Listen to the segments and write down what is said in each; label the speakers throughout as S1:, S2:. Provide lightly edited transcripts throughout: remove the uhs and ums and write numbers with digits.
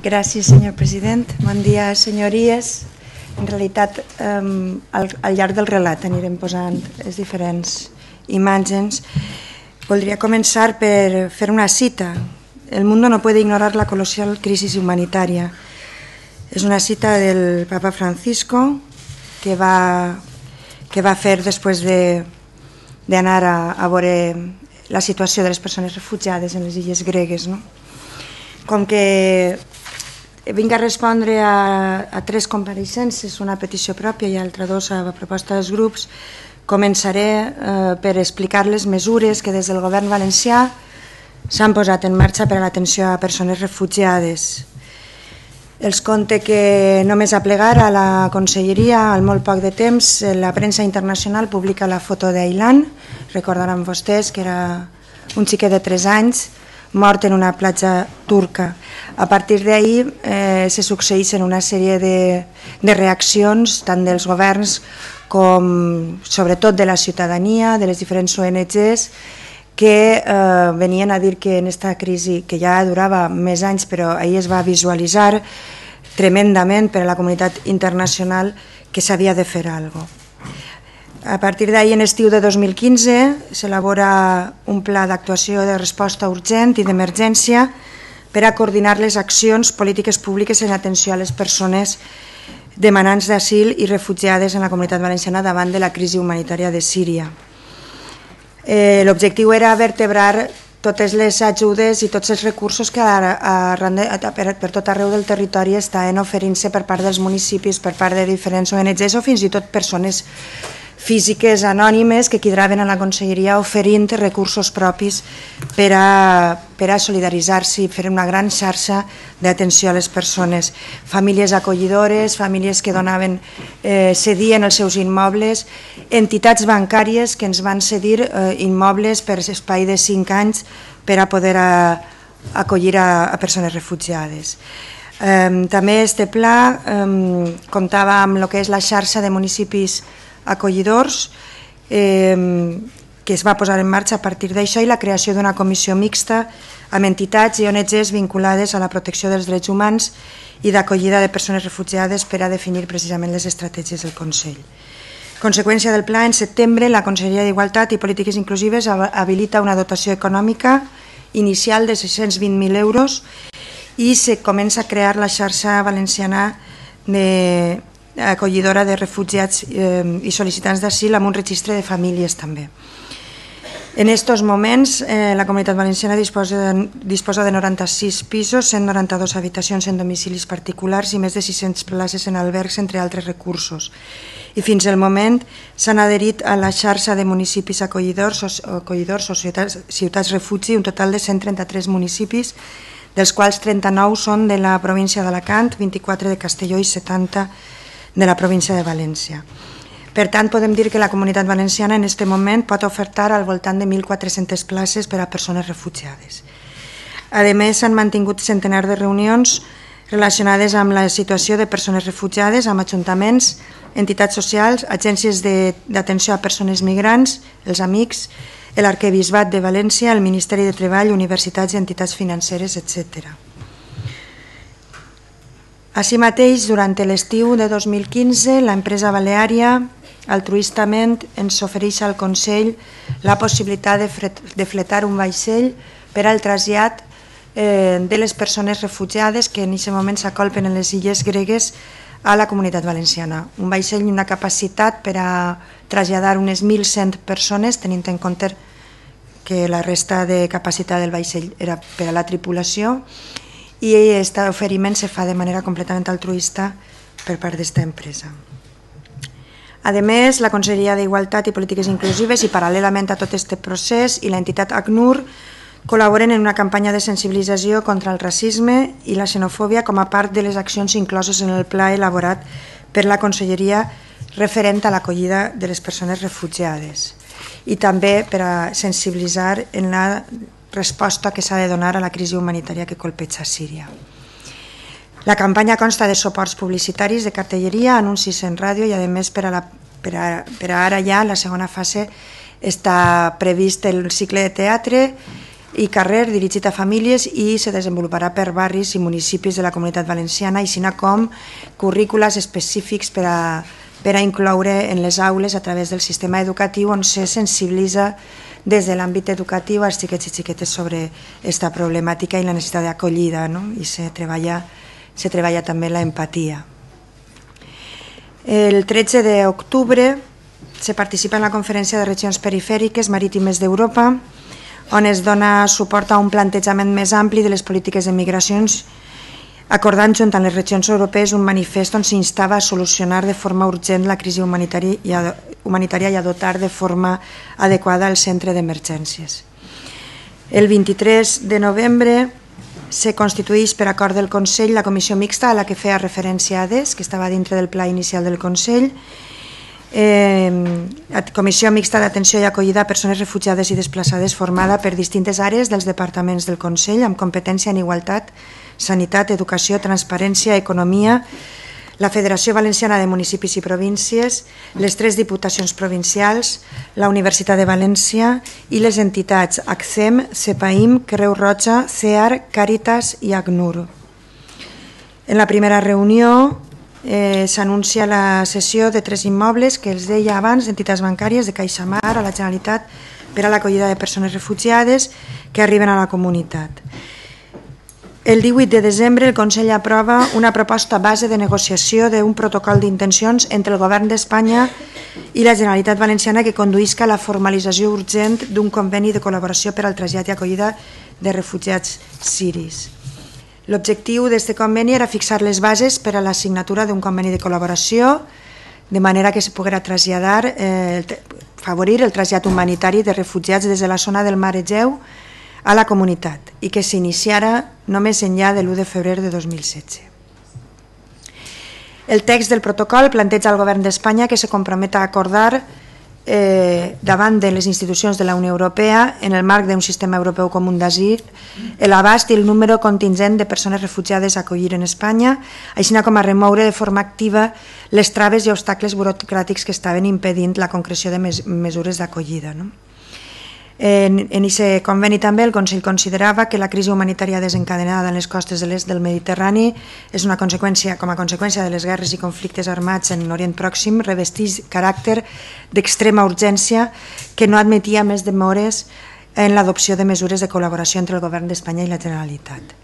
S1: Gràcies, senyor president. Bon dia, senyories. En realitat, al llarg del relat anirem posant les diferents imatges. Voldria començar per fer una cita. El mundo no puede ignorar la colosal crisis humanitaria. És una cita del Papa Francisco que va fer després d'anar a veure la situació de les persones refugiades en les illes gregues. Com que vinc a respondre a 3 compareixences, una petició pròpia i altra 2 a proposta dels grups, començaré per explicar les mesures que des del govern valencià s'han posat en marxa per a l'atenció a persones refugiades. Els conte que només a plegar a la conselleria, al molt poc de temps, la premsa internacional publica la foto d'Aylan. Recordaran vostès que era un xiquet de 3 anys mort en una platja turca. A partir d'ahir se succeeixen una sèrie de reaccions tant dels governs com sobretot de la ciutadania, de les diferents ONGs, que venien a dir que en aquesta crisi, que ja durava més anys, però ahir es va visualitzar tremendament per a la comunitat internacional que s'havia de fer alguna cosa. A partir d'ahir, en estiu de 2015, s'elabora un pla d'actuació de resposta urgent i d'emergència per a coordinar les accions polítiques públiques en atenció a les persones demanants d'asil i refugiades en la comunitat valenciana davant de la crisi humanitària de Síria. L'objectiu era vertebrar totes les ajudes i tots els recursos que per tot arreu del territori estaven oferint-se per part dels municipis, per part de diferents ONGs o fins i tot persones físiques anònimes que quidraven a la conselleria oferint recursos propis per a solidaritzar-se i fer una gran xarxa d'atenció a les persones. Famílies acollidores, famílies que cedien els seus immobles, entitats bancàries que ens van cedir immobles per espai de 5 anys per a poder acollir a persones refugiades. També este pla comptava amb el que és la xarxa de municipis acollidors que es va posar en marxa a partir d'això i la creació d'una comissió mixta amb entitats i ONGs vinculades a la protecció dels drets humans i d'acollida de persones refugiades per a definir precisament les estratègies del Consell. Conseqüència del pla, en setembre la Conselleria d'Igualtat i Polítiques Inclusives habilita una dotació econòmica inicial de 620.000 euros i se comença a crear la xarxa valenciana acollidora de refugiats i sol·licitants d'asil amb un registre de famílies també. En aquests moments la Comunitat Valenciana disposa de 96 pisos, 192 habitacions en domicilis particulars i més de 600 places en albergs, entre altres recursos. I fins al moment s'han adherit a la xarxa de municipis acollidors o ciutats refugi, un total de 133 municipis, dels quals 39 són de la província d'Alacant, 24 de Castelló i 70 de la província de València. Per tant, podem dir que la Comunitat Valenciana en aquest moment pot ofertar al voltant de 1.400 places per a persones refugiades. A més, s'han mantingut centenars de reunions relacionades amb la situació de persones refugiades, amb ajuntaments, entitats socials, agències d'atenció a persones migrants, els Amics, l'Arquebisbat de València, el Ministeri de Treball, universitats i entitats financeres, etc. Així mateix, durant l'estiu de 2015, l'empresa Baleària altruistament ens ofereix al Consell la possibilitat de fletar un vaixell per al trasllat de les persones refugiades que en aquest moment s'acolpen en les illes gregues a la Comunitat Valenciana. Un vaixell i una capacitat per a traslladar unes 1.100 persones, tenint en compte que la resta de capacitat del vaixell era per a la tripulació, i aquest oferiment se fa de manera completament altruista per part d'esta empresa. A més, la Conselleria d'Igualtat i Polítiques Inclusives i paral·lelament a tot aquest procés i l'entitat ACNUR col·laboren en una campanya de sensibilització contra el racisme i la xenofòbia com a part de les accions incloses en el pla elaborat per la Conselleria referent a l'acollida de les persones refugiades i també per a sensibilitzar en la resposta que s'ha de donar a la crisi humanitària que colpeja Síria. La campanya consta de suports publicitaris, de cartelleria, anuncis en ràdio i a més per a ara ja, la segona fase, està previst el cicle de teatre i carrer dirigit a famílies i se desenvoluparà per barris i municipis de la Comunitat Valenciana, així com currícules específics per a incloure en les aules a través del sistema educatiu on se sensibilitza des de l'àmbit educatiu als xiquets i xiquetes sobre aquesta problemàtica i la necessitat d'acollida, i se treballa també l'empatia. El 13 d'octubre se participa en la Conferència de Regions Perifèriques Marítimes d'Europa, on es dona suport a un plantejament més ampli de les polítiques de migracions, acordant junt amb les regions europees un manifest on s'instava a solucionar de forma urgent la crisi humanitària i a dotar de forma adequada el centre d'emergències. El 23 de novembre se constitueix per acord del Consell la comissió mixta a la que feia referència ADES, que estava dintre del pla inicial del Consell, Comissió Mixta d'Atenció i Acollida a Persones Refugiades i Desplaçades, formada per distintes àrees dels departaments del Consell amb competència en igualtat, sanitat, educació, transparència, economia, la Federació Valenciana de Municipis i Províncies, les 3 diputacions provincials, la Universitat de València i les entitats ACCEM, CEPAIM, Creu Roja, CEAR, Càritas i ACNUR. En la primera reunió s'anuncia la cessió de 3 immobles que els deia abans d'entitats bancàries de CaixaMar a la Generalitat per a l'acollida de persones refugiades que arriben a la comunitat. El 18 de desembre el Consell aprova una proposta base de negociació d'un protocol d'intencions entre el Govern d'Espanya i la Generalitat Valenciana que conduïsca a la formalització urgent d'un conveni de col·laboració per al trasllat i acollida de refugiats siris. L'objectiu d'aquest conveni era fixar les bases per a la signatura d'un conveni de col·laboració de manera que se poguera traslladar, favorir el trasllat humanitari de refugiats des de la zona del Mar Egeu a la comunitat i que s'iniciara només enllà de l'1 de febrer de 2016. El text del protocol planteja al Govern d'Espanya que se compromet a acordar davant de les institucions de la Unió Europea en el marc d'un sistema europeu comú d'asil l'abast i el número contingent de persones refugiades a acollir en Espanya, així com a remoure de forma activa les traves i obstacles burocràtics que estaven impedint la concreció de mesures d'acollida. En aquest conveni també el Consell considerava que la crisi humanitària desencadenada en les costes de l'est del Mediterrani és una conseqüència, com a conseqüència de les guerres i conflictes armats en l'Orient Pròxim, revesteix caràcter d'extrema urgència que no admetia més demores en l'adopció de mesures de col·laboració entre el Govern d'Espanya i la Generalitat.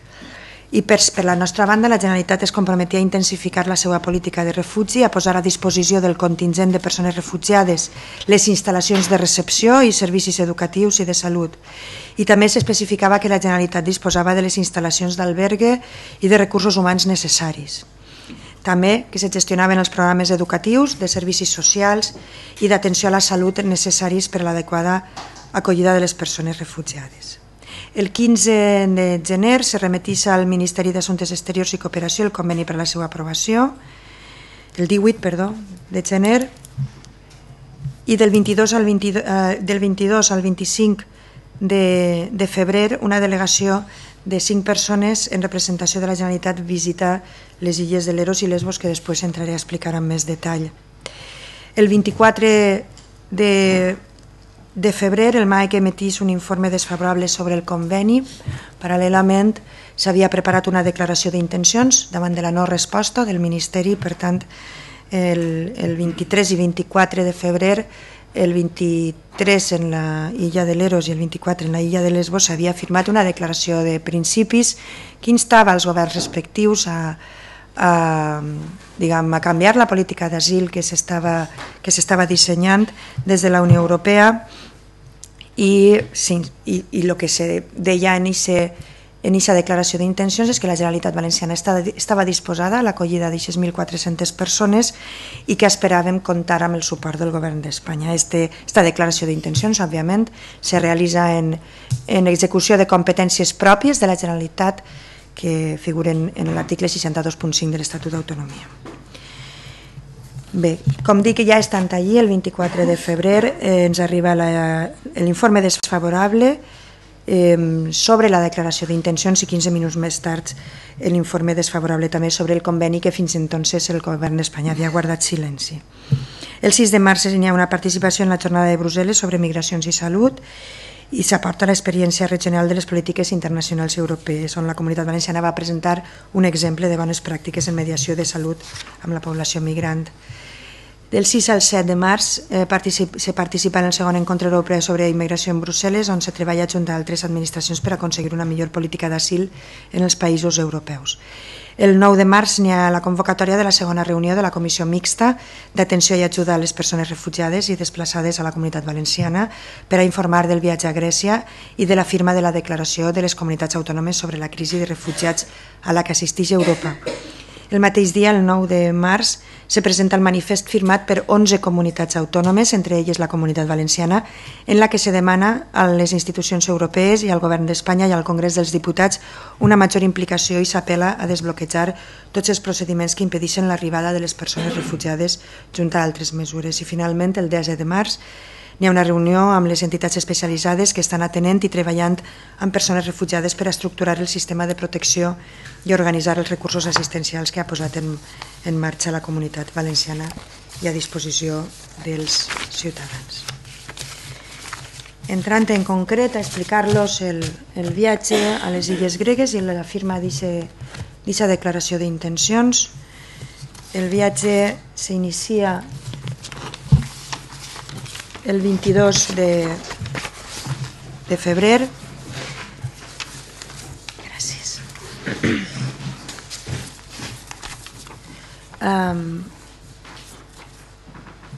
S1: I per la nostra banda, la Generalitat es comprometia a intensificar la seva política de refugi, a posar a disposició del contingent de persones refugiades les instal·lacions de recepció i servicis educatius i de salut. I també s'especificava que la Generalitat disposava de les instal·lacions d'albergue i de recursos humans necessaris. També que se gestionaven els programes educatius, de servicis socials i d'atenció a la salut necessaris per a l'adequada acollida de les persones refugiades. El 15 de gener se remetís al Ministeri d'Assumptes Exteriors i Cooperació el conveni per a la seva aprovació, el 18 de gener, i del 22 al 25 de febrer una delegació de 5 persones en representació de la Generalitat visita les illes de Leros i Lesbos, que després entraré a explicar amb més detall. El 24 de febrer el MAEC emetís un informe desfavorable sobre el conveni. Paral·lelament s'havia preparat una declaració d'intencions davant de la no resposta del Ministeri. Per tant, el 23 i 24 de febrer, el 23 en la illa de Leros i el 24 en la illa de Lesbos, s'havia firmat una declaració de principis que instava als governs respectius a canviar la política d'asil que s'estava dissenyant des de la Unió Europea i el que se deia en aquesta declaració d'intencions és que la Generalitat Valenciana estava disposada a l'acollida d'aquestes 1.400 persones i que esperàvem comptar amb el suport del Govern d'Espanya. Aquesta declaració d'intencions, òbviament, se realitza en execució de competències pròpies de la Generalitat que figuren en l'article 62.5 de l'Estatut d'Autonomia. Bé, com dic, ja estant allí, el 24 de febrer ens arriba l'informe desfavorable sobre la declaració d'intencions i 15 minuts més tard l'informe desfavorable també sobre el conveni que fins entonces el Govern d'Espanya havia guardat silenci. El 6 de març hi ha una participació en la jornada de Brussel·les sobre migracions i salut i s'aporta l'experiència regional de les polítiques internacionals europees, on la Comunitat Valenciana va presentar un exemple de bones pràctiques en mediació de salut amb la població migrant. Del 6 al 7 de març se participa en el segon encontre europeu sobre immigració en Brussel·les, on se treballa junt a altres administracions per aconseguir una millor política d'asil en els països europeus. El 9 de març n'hi ha la convocatòria de la segona reunió de la Comissió Mixta d'Atenció i Ajuda a les Persones Refugiades i Desplaçades a la Comunitat Valenciana per a informar del viatge a Grècia i de la firma de la Declaració de les Comunitats Autònomes sobre la crisi de refugiats a la que assisteix Europa. El mateix dia, el 9 de març, se presenta el manifest firmat per 11 comunitats autònomes, entre elles la Comunitat Valenciana, en la que se demana a les institucions europees i al Govern d'Espanya i al Congrés dels Diputats una major implicació i s'apel·la a desbloquejar tots els procediments que impedeixen l'arribada de les persones refugiades junt a altres mesures. I finalment, el 10 de març, n'hi ha una reunió amb les entitats especialitzades que estan atenent i treballant amb persones refugiades per a estructurar el sistema de protecció i organitzar els recursos assistencials que ha posat en marxa la Comunitat Valenciana i a disposició dels ciutadans. Entrant en concret a explicar-los el viatge a les Illes Gregues i la firma d'aquesta declaració d'intencions. El viatge s'inicia el 22 de febrer. Gràcies.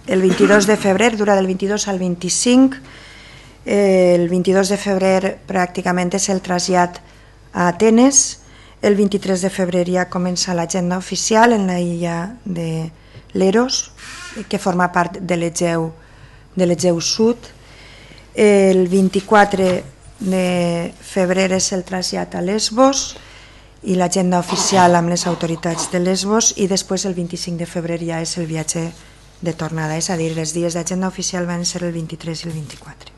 S1: El 22 de febrer, dura del 22 al 25. El 22 de febrer pràcticament és el trasllat a Atenes. El 23 de febrer ja comença l'agenda oficial en la illa de Leros, que forma part de l'Egeu Sud. El 24 de febrer és el trasllat a Lesbos i l'agenda oficial amb les autoritats de Lesbos, i després el 25 de febrer ja és el viatge de tornada, és a dir, els dies d'agenda oficial van ser el 23 i el 24.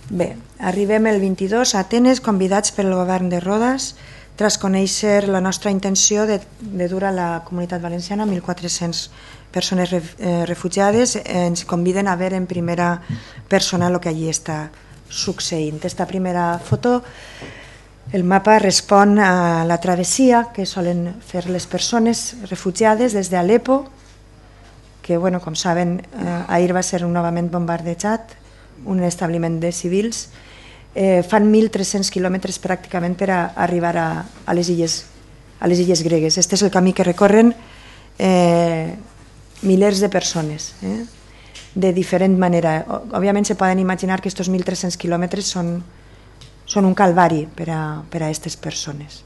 S1: Bé, arribem el 22 a Atenes, convidats pel govern de Rodes, tras conèixer la nostra intenció de dur a la Comunitat Valenciana 1.400 persones refugiades. Ens conviden a veure en primera persona el que allí està succeint. Esta primera foto, el mapa respon a la travessia que solen fer les persones refugiades des d'Alepo, que, com saben, ahir va ser novament bombardejat, un establiment de civils. Fan 1.300 quilòmetres pràcticament per a arribar a les illes gregues. Este és el camí que recorren milers de persones, de diferent manera. Òbviament se poden imaginar que aquests 1.300 quilòmetres són un calvari per a aquestes persones.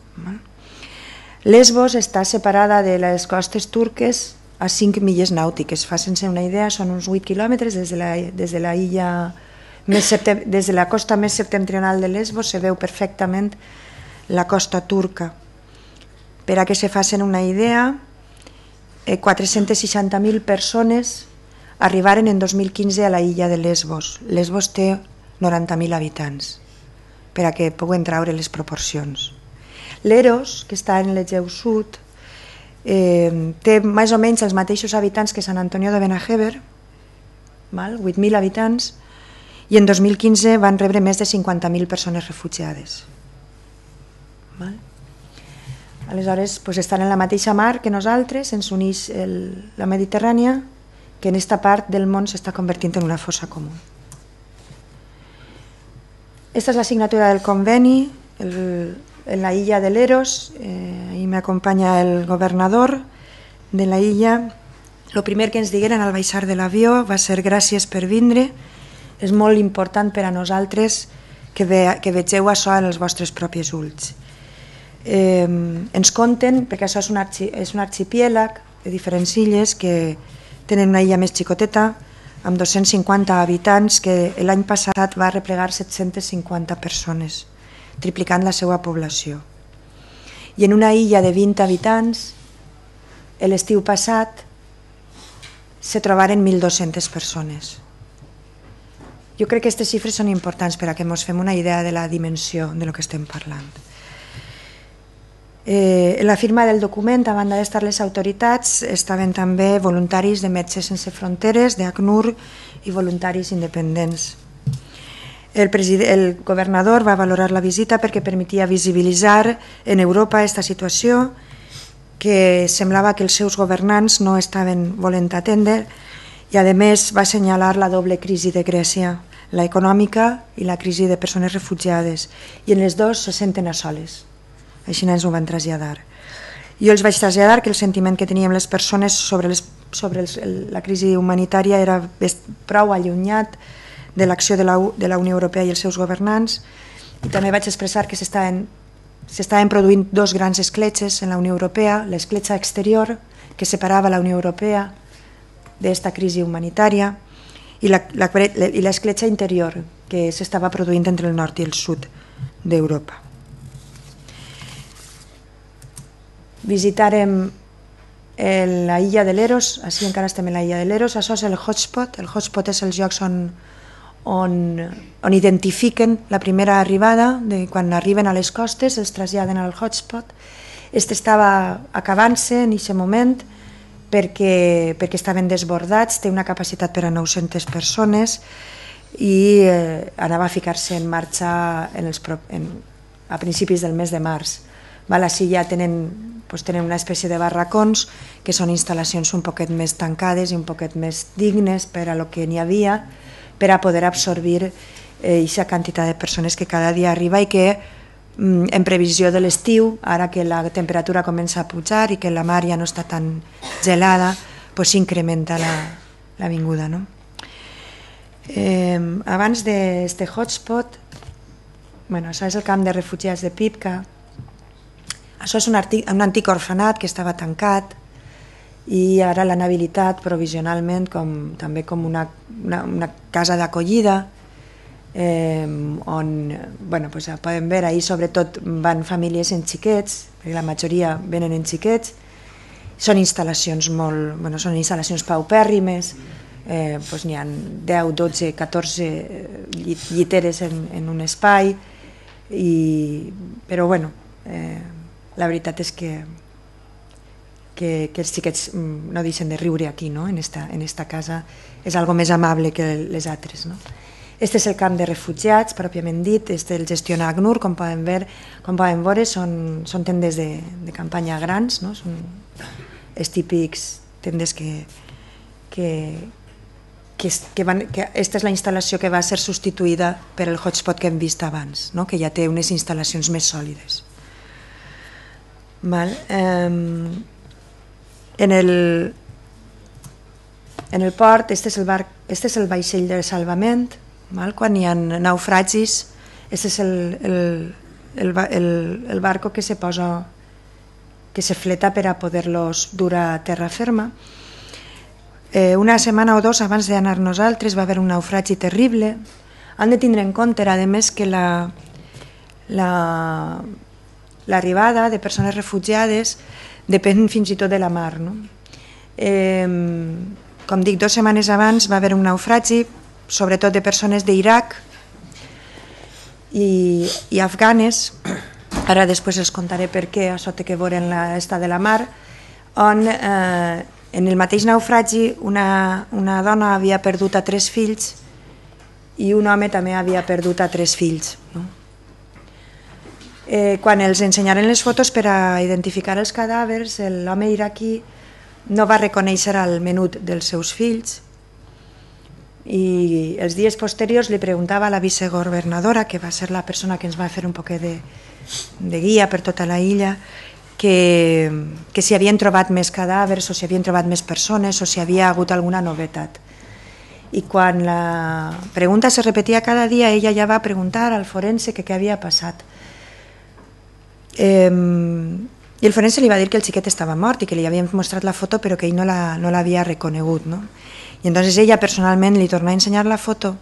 S1: Lesbos està separada de les costes turques a 5 milles nàutiques. Facin-se una idea, són uns 8 quilòmetres des de la illa, des de la costa més septentrional de Lesbos se veu perfectament la costa turca. Per a que se facin una idea, 460.000 persones arribaren en 2015 a la illa de Lesbos. Lesbos té 90.000 habitants, per a que puguin traure les proporcions. Leros, que està en l'Egeu Sud, té més o menys els mateixos habitants que Sant Antonio de Benajever, 8.000 habitants, i en 2015 van rebre més de 50.000 persones refugiades. Aleshores, estan en la mateixa mar que nosaltres, ens uneix la Mediterrània, que en aquesta part del món s'està convertint en una fossa comú. Esta és la signatura del conveni en la illa de Leros. Ahí m'acompanya el governador de la illa. El primer que ens digueren al baixar de l'avió va ser gràcies per vindre. És molt important per a nosaltres que vegeu això en els vostres propis ulls. Ens conten, perquè això és un arxipièlag de diferents illes que tenen una illa més xicoteta, amb 250 habitants, que l'any passat va replegar 750 persones, triplicant la seva població. I en una illa de 20 habitants, l'estiu passat, se trobaren 1.200 persones. Jo crec que aquestes xifres són importants per a que ens fem una idea de la dimensió de lo que estem parlant. En la firma del document, a banda d'estar les autoritats, estaven també voluntaris de Metges Sense Fronteres, d'ACNUR i voluntaris independents. El governador va valorar la visita perquè permetia visibilitzar en Europa aquesta situació que semblava que els seus governants no estaven volent atendre i a més va assenyalar la doble crisi de Grècia, la econòmica i la crisi de persones refugiades, i en les dues se senten a soles. Així ens ho van traslladar. Jo els vaig traslladar que el sentiment que teníem les persones sobre la crisi humanitària era prou allunyat de l'acció de la Unió Europea i els seus governants, i també vaig expressar que s'estaven produint dos grans escletxes en la Unió Europea, l'escletxa exterior que separava la Unió Europea d'esta crisi humanitària i l'escletxa interior que s'estava produint entre el nord i el sud d'Europa. Visitarem la illa de Leros, així encara estem en la illa de Leros, això és el hotspot. El hotspot és els llocs on identifiquen la primera arribada, quan arriben a les costes els traslladen al hotspot. Este estava acabant-se en aquest moment perquè estaven desbordats, té una capacitat per a 900 persones i anava a ficar-se en marxa a principis del mes de març. Així ja tenen una espècie de barracons que són instal·lacions un poquet més tancades i un poquet més dignes per a lo que n'hi havia, per a poder absorbir aquesta quantitat de persones que cada dia arriba i que en previsió de l'estiu, ara que la temperatura comença a pujar i que la mar ja no està tan gelada, s'incrementa la vinguda. Abans d'aquest hotspot, això és el camp de refugiats de Pipka. Això és un antic orfenat que estava tancat i ara l'han habilitat provisionalment també com una casa d'acollida on podem veure, ahir sobretot van famílies en xiquets, perquè la majoria venen en xiquets, són instal·lacions paupèrrimes, n'hi ha 10, 12, 14 lliteres en un espai, però la veritat és que els xiquets no deixen de riure aquí, en esta casa, és algo més amable que les altres. Este és el camp de refugiats, pròpiament dit, el gestiona ACNUR, com poden veure, són tendes de campanya grans, són els típics tendes que aquesta és la instal·lació que va ser substituïda per el hotspot que hem vist abans, que ja té unes instal·lacions més sòlides. En el port, este és el vaixell de salvament. Quan hi ha naufragis, aquest és el barco que se fleta per a poder-los dur a terra ferma. Una setmana o dos abans d'anar nosaltres va haver un naufragi terrible. Han de tindre en compte, a més, que l'arribada de persones refugiades depèn fins i tot de la mar. Com dic, 2 setmanes abans va haver un naufragi, sobretot de persones d'Iraq i afganes. Ara després els contaré per què, això té que veure en l'estat de la mar, on en el mateix naufragi una dona havia perdut a 3 fills i un home també havia perdut a 3 fills. Quan els ensenyaren les fotos per a identificar els cadàvers, l'home iraquí no va reconèixer el menut dels seus fills i els dies posteriors li preguntava a la vicegovernadora, que va ser la persona que ens va fer un poquet de guia per tota la illa, que si havien trobat més cadàvers o si havien trobat més persones o si havia hagut alguna novetat. I quan la pregunta se repetia cada dia, ella ja va preguntar al forense què havia passat. I el forense li va dir que el xiquet estava mort i que li havien mostrat la foto però que ell no l'havia reconegut. I entonces ella personalment li torna a ensenyar la foto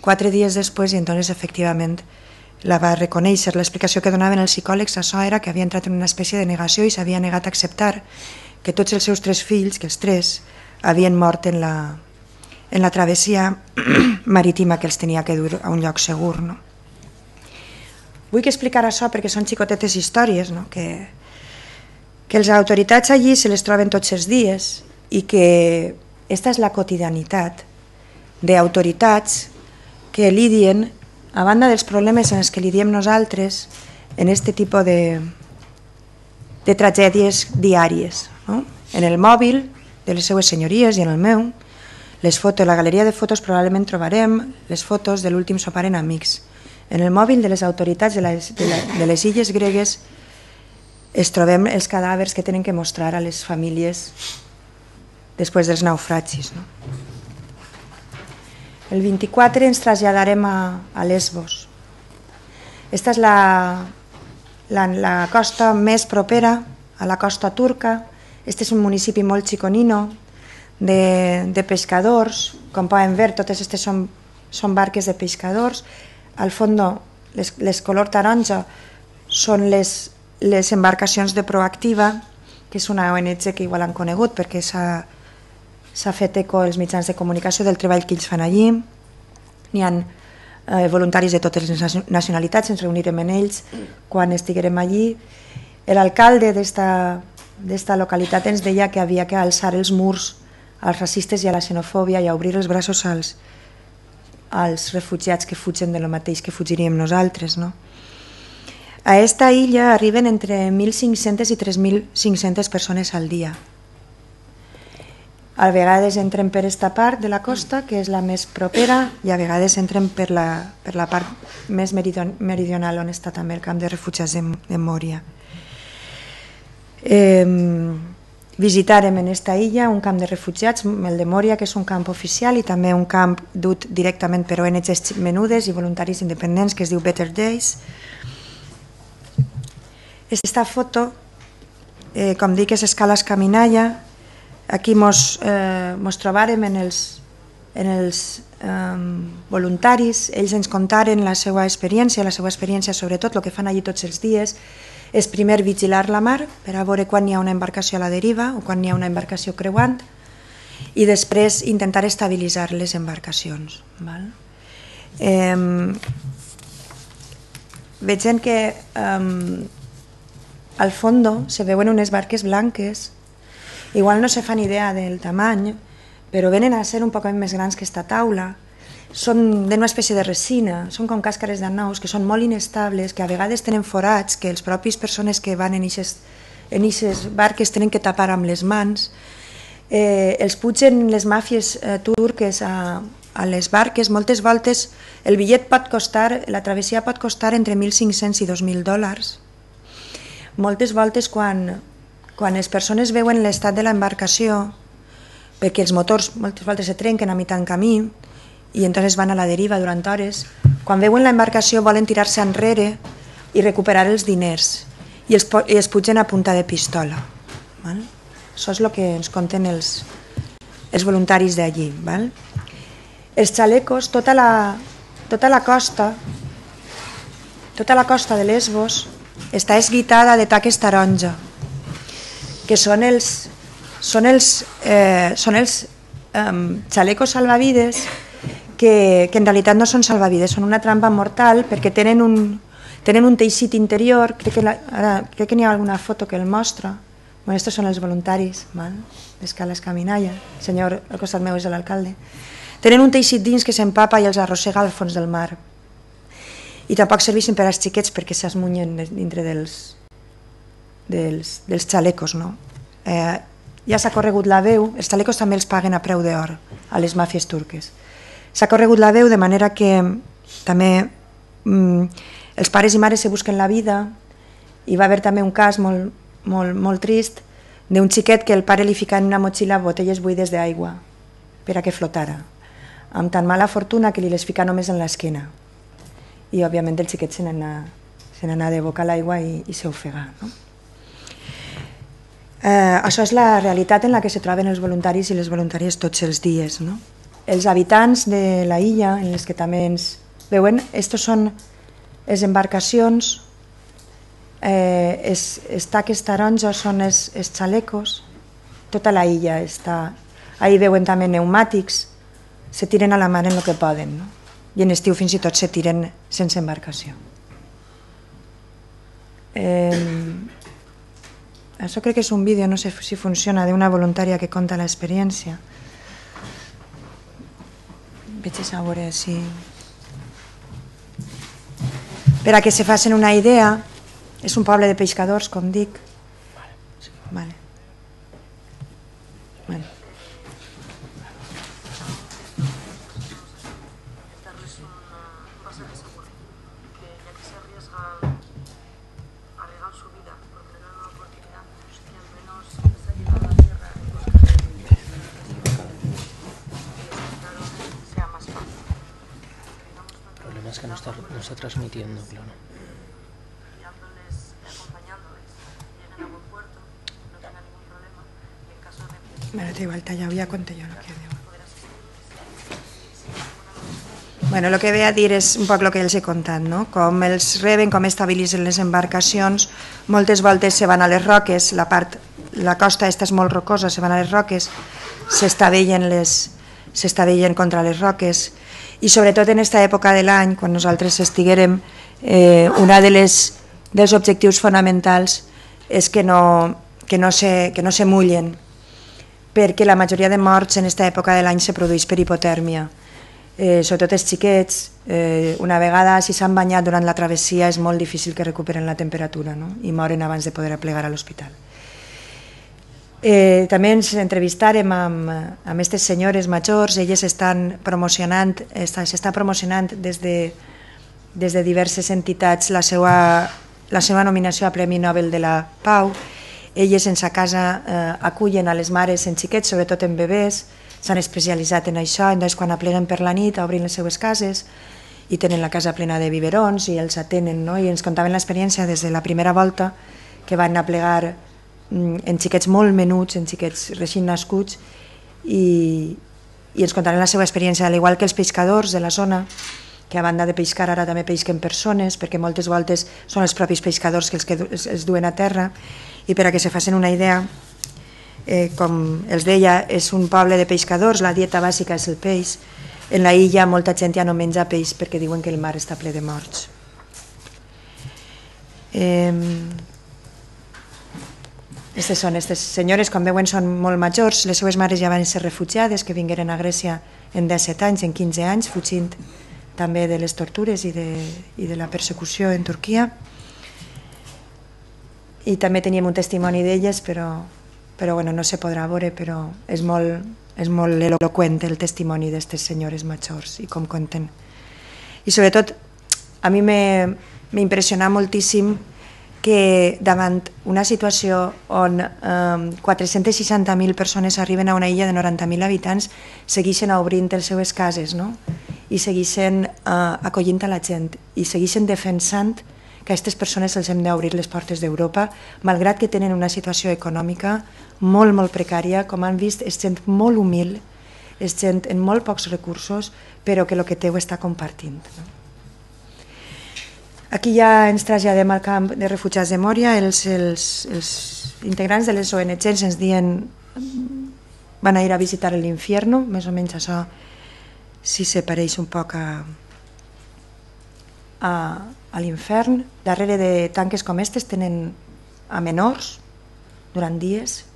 S1: 4 dies després i entonces efectivament la va reconèixer. L'explicació que donaven els psicòlegs això era que havia entrat en una espècie de negació i s'havia negat a acceptar que tots els seus 3 fills, que els 3 havien mort en la travessia marítima que els tenia que dur a un lloc segur. Vull explicar això perquè són xicotetes històries, que les autoritats allí se les troben tots els dies i que aquesta és la quotidianitat d'autoritats que lidien a banda dels problemes en els que li diem nosaltres en aquest tipus de tragèdies diàries, no? En el mòbil de les seues senyories i en el meu, la galeria de fotos probablement trobarem les fotos de l'últim sopar en amics. En el mòbil de les autoritats de les illes gregues es trobem els cadàvers que tenen que mostrar a les famílies després dels naufragis. El 24 ens traslladarem a Lesbos. Aquesta és la costa més propera a la costa turca. Este és un municipi molt xiconino de pescadors. Com poden veure, totes aquestes són barques de pescadors. Al fons, les color taronja són les embarcacions de Proactiva, que és una ONG que igual han conegut perquè s'ha fet eco els mitjans de comunicació del treball que ells fan allí. N'hi ha voluntaris de totes les nacionalitats, ens reunirem amb ells quan estiguem allí. L'alcalde d'esta localitat ens deia que havia que alçar els murs als racistes i a la xenofòbia i a obrir els braços als refugiats que fugen de lo mateix que fugiríem nosaltres. A aquesta illa arriben entre 1.500 i 3.500 persones al dia. A vegades entren per aquesta part de la costa, que és la més propera, i a vegades entren per la part més meridional, on està també el camp de refugiats de Mòria. Visitarem en aquesta illa un camp de refugiats, el de Mòria, que és un camp oficial, i també un camp dut directament per ONGs menudes i voluntaris independents, que es diu Better Days. Aquesta foto, com dic, és escala Escaminalla. Aquí mos trobàrem en els voluntaris. Ells ens contaren la seva experiència, sobretot el que fan allí tots els dies, és primer vigilar la mar per a veure quan hi ha una embarcació a la deriva o quan hi ha una embarcació creuant, i després intentar estabilitzar les embarcacions. Veiem que al fons se veuen unes barques blanques. Igual no se fan idea del tamany, però venen a ser un poc més grans que esta taula. Són d'una espècie de resina, són com càscares d'anous, que són molt inestables, que a vegades tenen forats, que les pròpies persones que van en aquestes barques tenen que tapar amb les mans. Els pugen les màfies turques a les barques. Moltes voltes el bitllet pot costar, la travessia pot costar entre 1.500 i 2.000 dòlars. Moltes voltes quan les persones veuen l'estat de l'embarcació, perquè els motors moltes voltes se trenquen a mitjan camí i entonces van a la deriva durant hores, quan veuen l'embarcació volen tirar-se enrere i recuperar els diners i els pugen a punta de pistola. Això és el que ens conten els voluntaris d'allí. Els xalecos, tota la costa de Lesbos està esguitada de taques taronja, que són els xalecos salvavides que en realitat no són salvavides, són una trampa mortal perquè tenen un teixit interior. Crec que n'hi ha alguna foto que el mostra. Estos són els voluntaris d'Escala Escaminalla. El senyor al costat meu és l'alcalde. Tenen un teixit dins que s'empapa i els arrossega al fons del mar. I tampoc serveixen per als xiquets perquè s'esmunyen dintre dels xalecos. Ja s'ha corregut la veu, els xalecos també els paguen a preu d'or a les màfies turques. S'ha corregut la veu de manera que també els pares i mares se busquen la vida, i va haver també un cas molt trist d'un xiquet que el pare li fica en una motxilla botelles buides d'aigua per a que flotara, amb tan mala fortuna que li les fica només en l'esquena, i òbviament el xiquet se n'anà de boca a l'aigua i s'ofega. Això és la realitat en la que se troben els voluntaris i les voluntàries tots els dies. Els habitants de la illa, en les que també ens veuen, aquestes són les embarcacions, els taques taronja són els xalecos, tota la illa està. Ahí veuen també pneumàtics, se tiren a la mar en el que poden, i en estiu fins i tot se tiren sense embarcació. Això crec que és un vídeo, no sé si funciona, d'una voluntària que conta l'experiència. Veig a veure si... Per a que se facin una idea, és un poble de pescadors, com dic. Vale. Bueno.
S2: Es que no está transmitiendo, claro.
S1: Bueno, da igual, tallado, ya conté yo lo que digo. Bueno, el que ve a dir és un poc el que els he contat, no? Com els reben, com estabilitzen les embarcacions, moltes voltes se van a les roques, la costa esta és molt rocosa, se van a les roques, s'estavellen contra les roques, i sobretot en aquesta època de l'any, quan nosaltres estiguérem, un dels objectius fonamentals és que no se mullen, perquè la majoria de morts en aquesta època de l'any se produeix per hipotèrmia. Sobretot els xiquets, una vegada si s'han banyat durant la travessia és molt difícil que recuperen la temperatura, no? I moren abans de poder aplegar a l'hospital. També ens entrevistarem amb aquestes senyores majors, elles s'està promocionant des de diverses entitats la seva nominació a Premi Nobel de la Pau. Elles en sa casa acullen a les mares en xiquets, sobretot en bebès, s'han especialitzat en això, doncs quan apleguen per la nit obrin les seues cases i tenen la casa plena de biberons i els atenen, no? I ens contaven l'experiència des de la primera volta que van aplegar en xiquets molt menuts, en xiquets recient nascuts, i ens contaran la seva experiència, al igual que els pescadors de la zona, que a banda de pescar ara també pesquen persones, perquè moltes voltes són els propis pescadors que els duen a terra, i per a que se facin una idea, com els deia, és un poble de pescadors, la dieta bàsica és el peix, en la illa molta gent ja no menja peix perquè diuen que el mar està ple de morts. Aquestes senyores, com veuen, són molt majors, les seues mares ja van ser refugiades, que vingueren a Grècia en 17 anys, en 15 anys, fugint també de les tortures i de la persecució en Turquia. I també teníem un testimoni d'elles, però no se podrà veure, però és molt eloqüent el testimoni d'aquestes senyores majors i com conten. I sobretot, a mi m'impressiona moltíssim que davant una situació on 460.000 persones arriben a una illa de 90.000 habitants segueixen obrint les seues cases, no? I segueixen acollint a la gent i segueixen defensant que a aquestes persones els hem d'obrir les portes d'Europa, malgrat que tenen una situació econòmica molt, molt precària. Com han vist, és gent molt humil, és gent amb molt pocs recursos, però que el que té ho està compartint. Aquí ja ens traslladem al camp de refugiats de Mòria. Els integrants de les ONGs ens diuen van a ir a visitar l'infierno, més o menys això sí se pareix un poc a l'infern. Darrere de tanques com aquestes tenen a menors durant dies,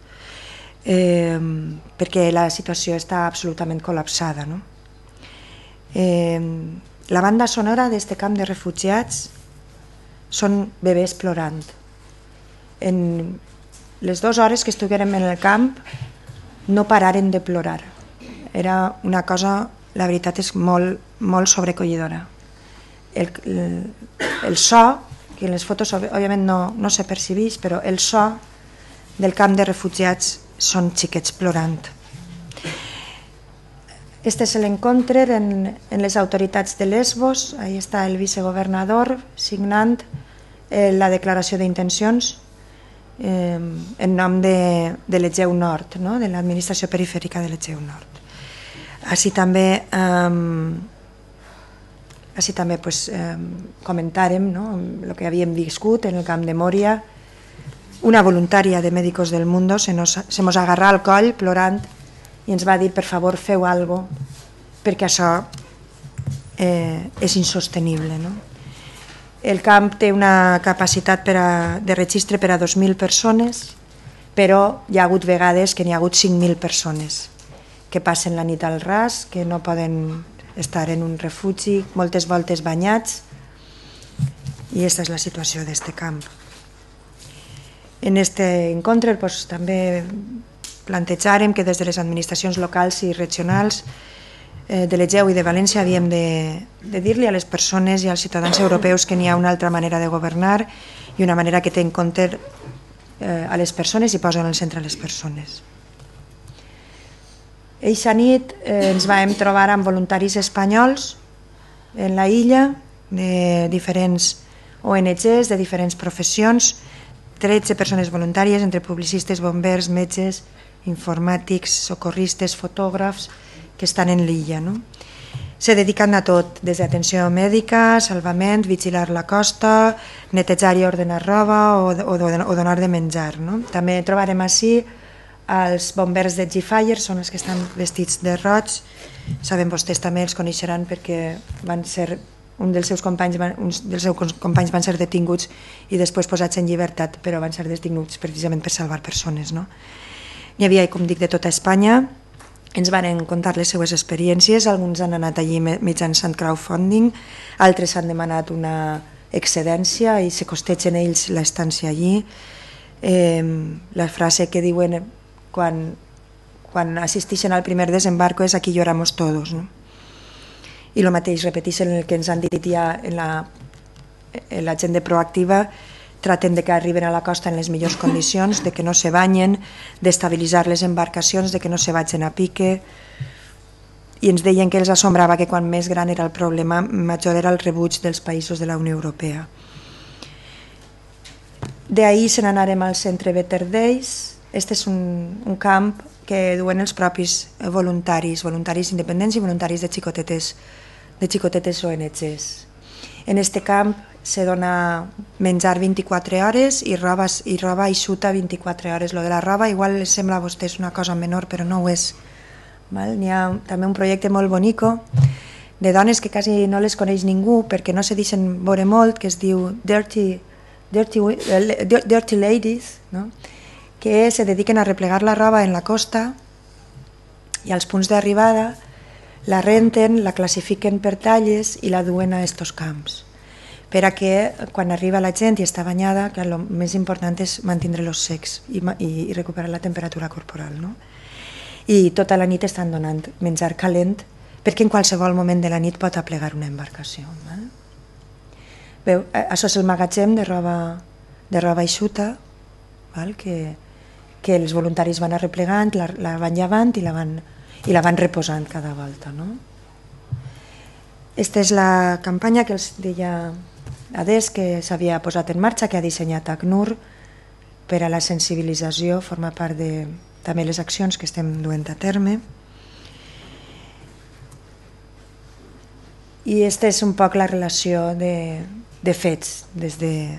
S1: perquè la situació està absolutament col·lapsada. La banda sonora d'aquest camp de refugiats són bebès plorant. En les 2 hores que estiguérem en el camp no pararen de plorar. Era una cosa, la veritat és molt, molt sobrecollidora. El so, que en les fotos òbviament no se percebeix, però el so del camp de refugiats són xiquets plorant. Este és l'encontre en les autoritats de Lesbos. Ahí està el vicegovernador signant la declaració d'intencions en nom de l'Egeu Nord, de l'administració perifèrica de l'Egeu Nord. Així també comentàrem el que havíem viscut en el camp de Mòria. Una voluntària de Médicos del Mundo se mos agarrà al coll plorant i ens va dir, per favor, feu alguna cosa, perquè això és insostenible. El camp té una capacitat de registre per a 2.000 persones, però hi ha hagut vegades que n'hi ha hagut 5.000 persones que passen la nit al ras, que no poden estar en un refugi, moltes voltes banyats, I aquesta és la situació d'aquest camp. En aquest encontre també plantejarem que des de les administracions locals i regionals de l'Egeu i de València havíem de dir-li a les persones i als ciutadans europeus que n'hi ha una altra manera de governar i una manera que té en compte a les persones i posa en el centre a les persones. Eixa nit ens vam trobar amb voluntaris espanyols en la illa de diferents ONGs, de diferents professions, 13 persones voluntàries entre publicistes, bombers, metges, informàtics, socorristes, fotògrafs que estan en l'illa. Se dediquen a tot, des d'atenció mèdica, salvament, vigilar la costa, netejar i ordenar roba o donar de menjar. També trobarem ací els bombers de G-Fire, són els que estan vestits de roig. Saben vostès també, els coneixeran perquè van ser uns dels seus companys van ser detinguts i després posats en llibertat, però van ser detinguts precisament per salvar persones. N'hi havia, com dic, de tota Espanya. Ens van contar les seues experiències, alguns han anat allí mitjançant crowdfunding, altres han demanat una excedència i se costegen ells l'estància allí. La frase que diuen quan assisteixen al primer desembarco és aquí lloramos todos. I el mateix repeteixen el que ens han dit ja en la gent de Proactiva, traten de que arriben a la costa en les millors condicions, de que no se banyen, d'estabilitzar les embarcacions, de que no se vagin a pique, i ens deien que els assombrava que quan més gran era el problema, major era el rebuig dels països de la Unió Europea. D'ahir se n'anarem al centre Better Days. Este és un camp que duen els propis voluntaris independents i voluntaris de xicotetes ONGs. En aquest camp se dona menjar 24 hores i roba eixuta 24 hores. Lo de la roba igual les sembla a vostès una cosa menor, però no ho és. N'hi ha també un projecte molt bonico de dones que quasi no les coneix ningú perquè no se deixen veure molt, que es diu Dirty Ladies, que se dediquen a replegar la roba en la costa i als punts d'arribada la renten, la classifiquen per talles i la duen a estos camps, per a que quan arriba la gent i està banyada, que el més important és mantenir los secs i recuperar la temperatura corporal. I tota la nit estan donant menjar calent perquè en qualsevol moment de la nit pot aplegar una embarcació. Veu, això és el magatzem de roba eixuta, que els voluntaris van arreplegant, la van llevant i la van reposant cada volta. Aquesta és la campanya que els deia Ades, que s'havia posat en marxa, que ha dissenyat ACNUR per a la sensibilització, forma part de també les accions que estem duent a terme. I aquesta és un poc la relació de fets des de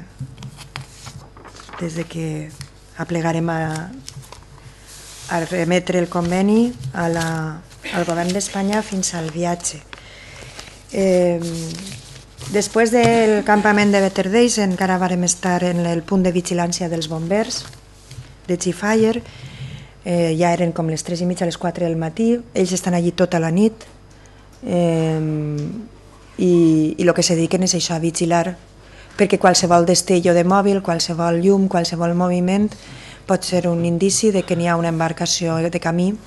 S1: que aplegarem a remetre el conveni al govern d'Espanya fins al viatge. Després del campament de Better Days encara vàrem estar en el punt de vigilància dels bombers de G-Fire. Ja eren com les 3:30, les 4 del matí. Ells estan allí tota la nit i el que se dediquen és això, a vigilar, perquè qualsevol destello de mòbil, qualsevol llum, qualsevol moviment pot ser un indici de que n'hi ha una embarcació de camí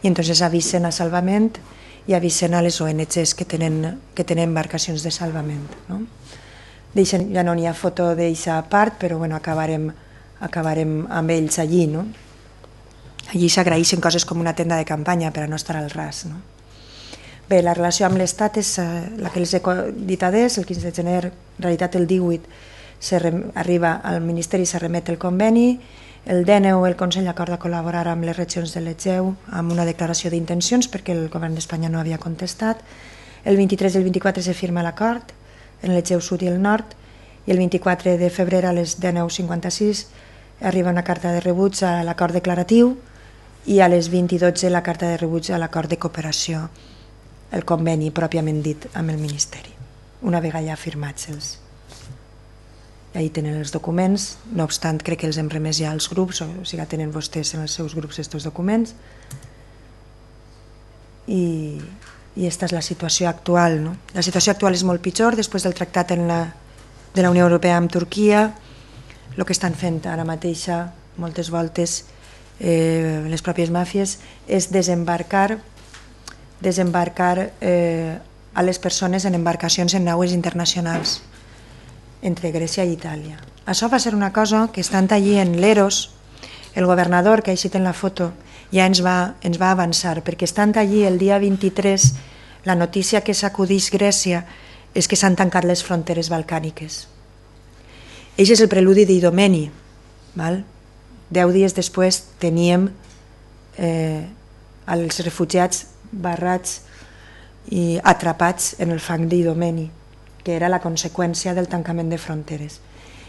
S1: i entonces avisen a salvament i avisen a les ONGs que tenen embarcacions de salvament. Ja no n'hi ha foto d'aquesta part, però acabarem amb ells allí. Allí s'agraeixen coses com una tenda de campanya per a no estar al ras. Bé, la relació amb l'Estat és la que els he dit adés. El 15 de gener, en realitat el 18, arriba al Ministeri i se remet el conveni. El 19 el Consell acorda col·laborar amb les regions de l'Egeu amb una declaració d'intencions perquè el govern d'Espanya no havia contestat. El 23 i el 24 se firma l'acord en l'Egeu Sud i el Nord i el 24 de febrer a les 19:56 arriba una carta de rebuig a l'acord declaratiu i a les 20:12 la carta de rebuig a l'acord de cooperació, el conveni pròpiament dit amb el Ministeri, una vegada ja firmats els. Ahí tenen els documents, no obstant crec que els hem remès ja als grups, o sigui, tenen vostès en els seus grups aquests documents. I aquesta és la situació actual. La situació actual és molt pitjor després del tractat en de la Unió Europea amb Turquia. El que estan fent ara mateixa, moltes voltes, les pròpies màfies, és desembarcar a les persones en embarcacions en naues internacionals entre Grècia i Itàlia. Això va ser una cosa que, estant allí en l'Eros, el governador, que així en la foto, ja ens va avançar, perquè estant allí el dia 23, la notícia que sacudís Grècia és que s'han tancat les fronteres balcàniques. Això és el preludi d'Idomeni. 10 dies després teníem els refugiats barrats i atrapats en el fang d'Idomeni, que era la conseqüència del tancament de fronteres.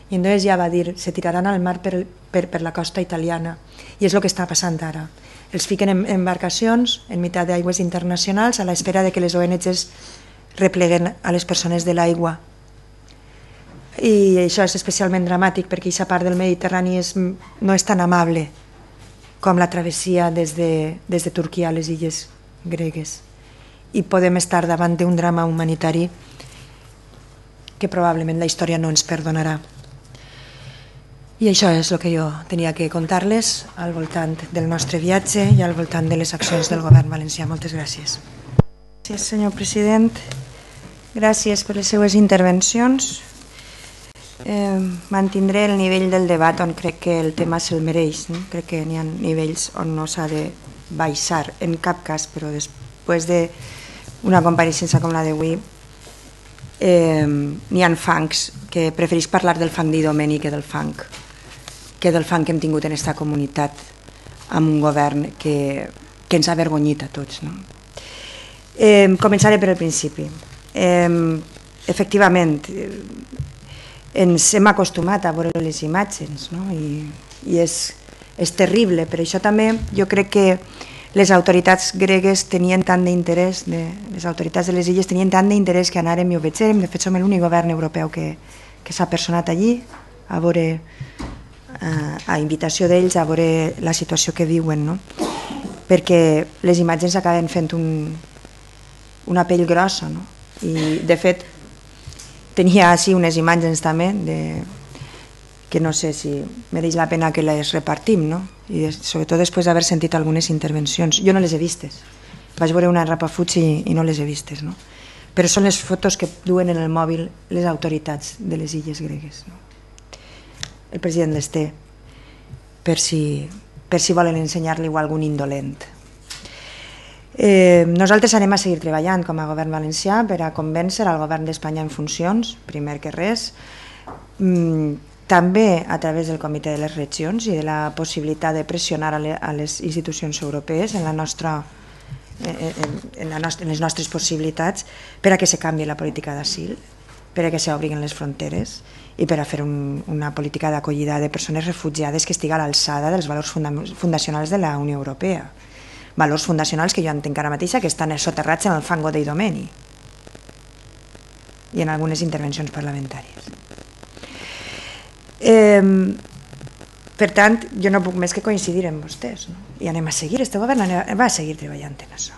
S1: I entonces ja va dir, se tiraran al mar per la costa italiana, i és el que està passant ara. Els fiquen en embarcacions en meitat d'aigües internacionals a l'espera de que les ONGs repleguen a les persones de l'aigua. I això és especialment dramàtic perquè aquesta part del Mediterrani no és tan amable com la travessia des de Turquia a les illes gregues. I podem estar davant d'un drama humanitari que probablement la història no ens perdonarà. I això és el que jo tenia que contar-les al voltant del nostre viatge i al voltant de les accions del govern valencià. Moltes gràcies. Gràcies, senyor president. Gràcies per les seues intervencions. Mantindré el nivell del debat on crec que el tema se'l mereix. Crec que n'hi ha nivells on no s'ha de baixar en cap cas, però després d'una compareixença com la d'avui n'hi ha fangs que preferís parlar del fang d'Idomeni que del fang que hem tingut en aquesta comunitat amb un govern que ens ha avergonyit a tots. Començaré per el principi. Efectivament, ens hem acostumat a veure les imatges i és terrible. Per això també jo crec que les autoritats gregues tenien tant d'interès, les autoritats de les illes tenien tant d'interès que anàrem i ho vegem. De fet, som l'únic govern europeu que s'ha personat allí a invitació d'ells a veure la situació que viuen, perquè les imatges acaben fent una pell grossa. I de fet tenia així unes imatges també que no sé si mereix la pena que les repartim, i sobretot després d'haver sentit algunes intervencions. Jo no les he vistes, vaig veure una rapafuig i no les he vistes, però són les fotos que duen en el mòbil les autoritats de les illes gregues. El president les té per si volen ensenyar-li a algun indolent. Nosaltres anem a seguir treballant com a govern valencià per a convèncer al govern d'Espanya en funcions, primer que res, també a través del Comitè de les Regions i de la possibilitat de pressionar a les institucions europees en les nostres possibilitats per a que se canvi la política d'asil, per a que s'obrin les fronteres i per a fer una política d'acollida de persones refugiades que estigui a l'alçada dels valors fundacionals de la Unió Europea. Valors fundacionals que jo entenc ara mateixa que estan soterrats en el fango d'Idomeni i en algunes intervencions parlamentàries. Per tant, jo no puc més que coincidir amb vostès i anem a seguir, este govern va a seguir treballant en això.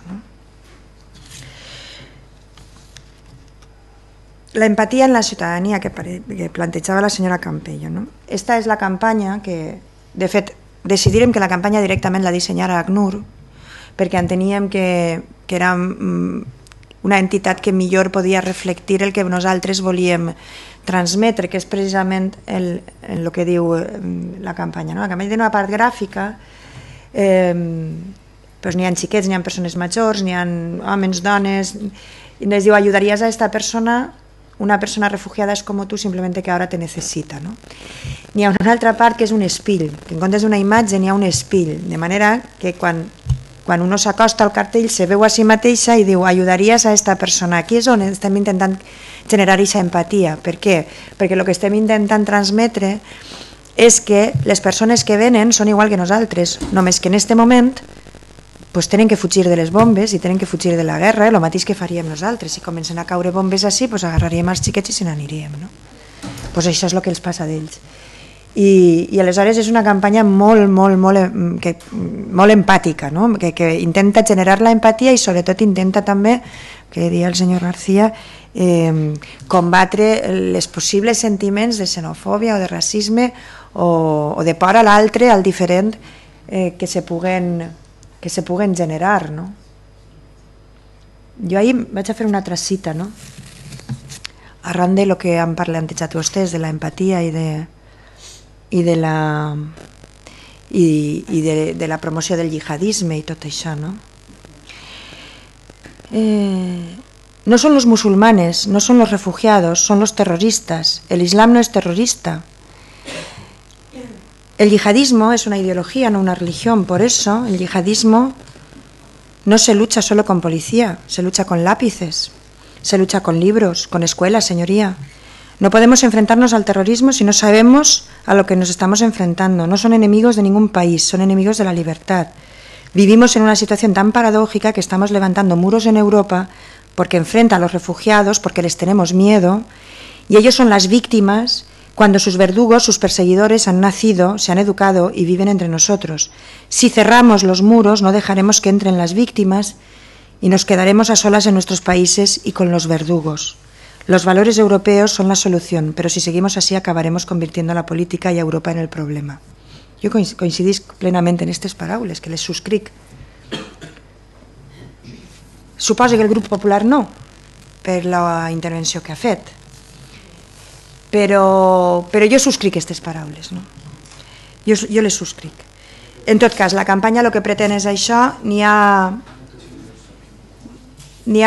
S1: La empatia en la ciutadania que plantejava la senyora Campello. Esta és la campanya que, de fet, decidirem que la campanya directament la dissenyara ACNUR perquè enteníem que era una entitat que millor podia reflectir el que nosaltres volíem transmetre, que és precisament el que diu la campanya. La campanya té una part gràfica, n'hi ha xiquets, n'hi ha persones majors, n'hi ha homes, dones, i ens diu, ajudaries a esta persona, una persona refugiada és com tu, simplement que ara te necessita. N'hi ha una altra part que és un espill, que en comptes d'una imatge n'hi ha un espill, de manera que quan uno s'acosta al cartell se veu a si mateixa i diu ajudaries a aquesta persona. Aquí és on estem intentant generar aquesta empatia. Per què? Perquè el que estem intentant transmetre és que les persones que venen són igual que nosaltres, només que en aquest moment tenen que fugir de les bombes i tenen que fugir de la guerra, el mateix que faríem nosaltres. Si comencen a caure bombes així, agarraríem els xiquets i se n'aniríem. Això és el que els passa d'ells. I aleshores és una campanya molt empàtica, que intenta generar la empatia i sobretot intenta també, que deia el senyor García, combatre els possibles sentiments de xenofòbia o de racisme o de por a l'altre, al diferent, que se puguen generar, no? Jo ahir vaig a fer una altra cita, no? Arran de lo que han plantejat vostès, de la empatia i de la promoció del jihadisme i tot això, no? No son los musulmanes, no son los refugiados, son los terroristas. El Islam no es terrorista. El yihadismo es una ideología, no una religión. Por eso el yihadismo no se lucha solo con policía, se lucha con lápices, se lucha con libros, con escuelas, señoría. No podemos enfrentarnos al terrorismo si no sabemos a lo que nos estamos enfrentando. No son enemigos de ningún país, son enemigos de la libertad. Vivimos en una situación tan paradójica que estamos levantando muros en Europa porque enfrenta a los refugiados, porque les tenemos miedo, y ellos son las víctimas cuando sus verdugos, sus perseguidores han nacido, se han educado y viven entre nosotros. Si cerramos los muros, no dejaremos que entren las víctimas y nos quedaremos a solas en nuestros países y con los verdugos. Los valores europeos son la solución, pero si seguimos así acabaremos convirtiendo a la política y a Europa en el problema. Jo coincidís plenament en aquestes paraules, que les subscric. Suposo que el grup popular no, per la intervenció que ha fet, però jo subscric aquestes paraules, no? Jo les subscric. En tot cas, la campanya el que pretén és això. N'hi ha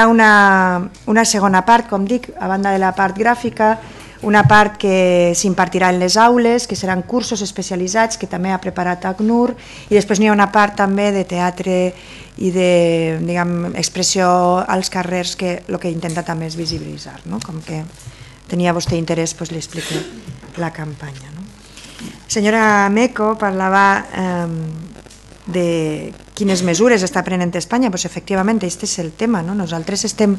S1: una segona part, com dic, a banda de la part gràfica, una part que s'impartirà en les aules, que seran cursos especialitzats que també ha preparat ACNUR, i després n'hi ha una part també de teatre i de, diguem, expressió als carrers, que el que intenta també és visibilitzar, no? Com que tenia vostè interès, doncs li explico la campanya, no? Senyora Meco parlava de quines mesures està prenent Espanya. Doncs efectivament, aquest és el tema, no? Nosaltres estem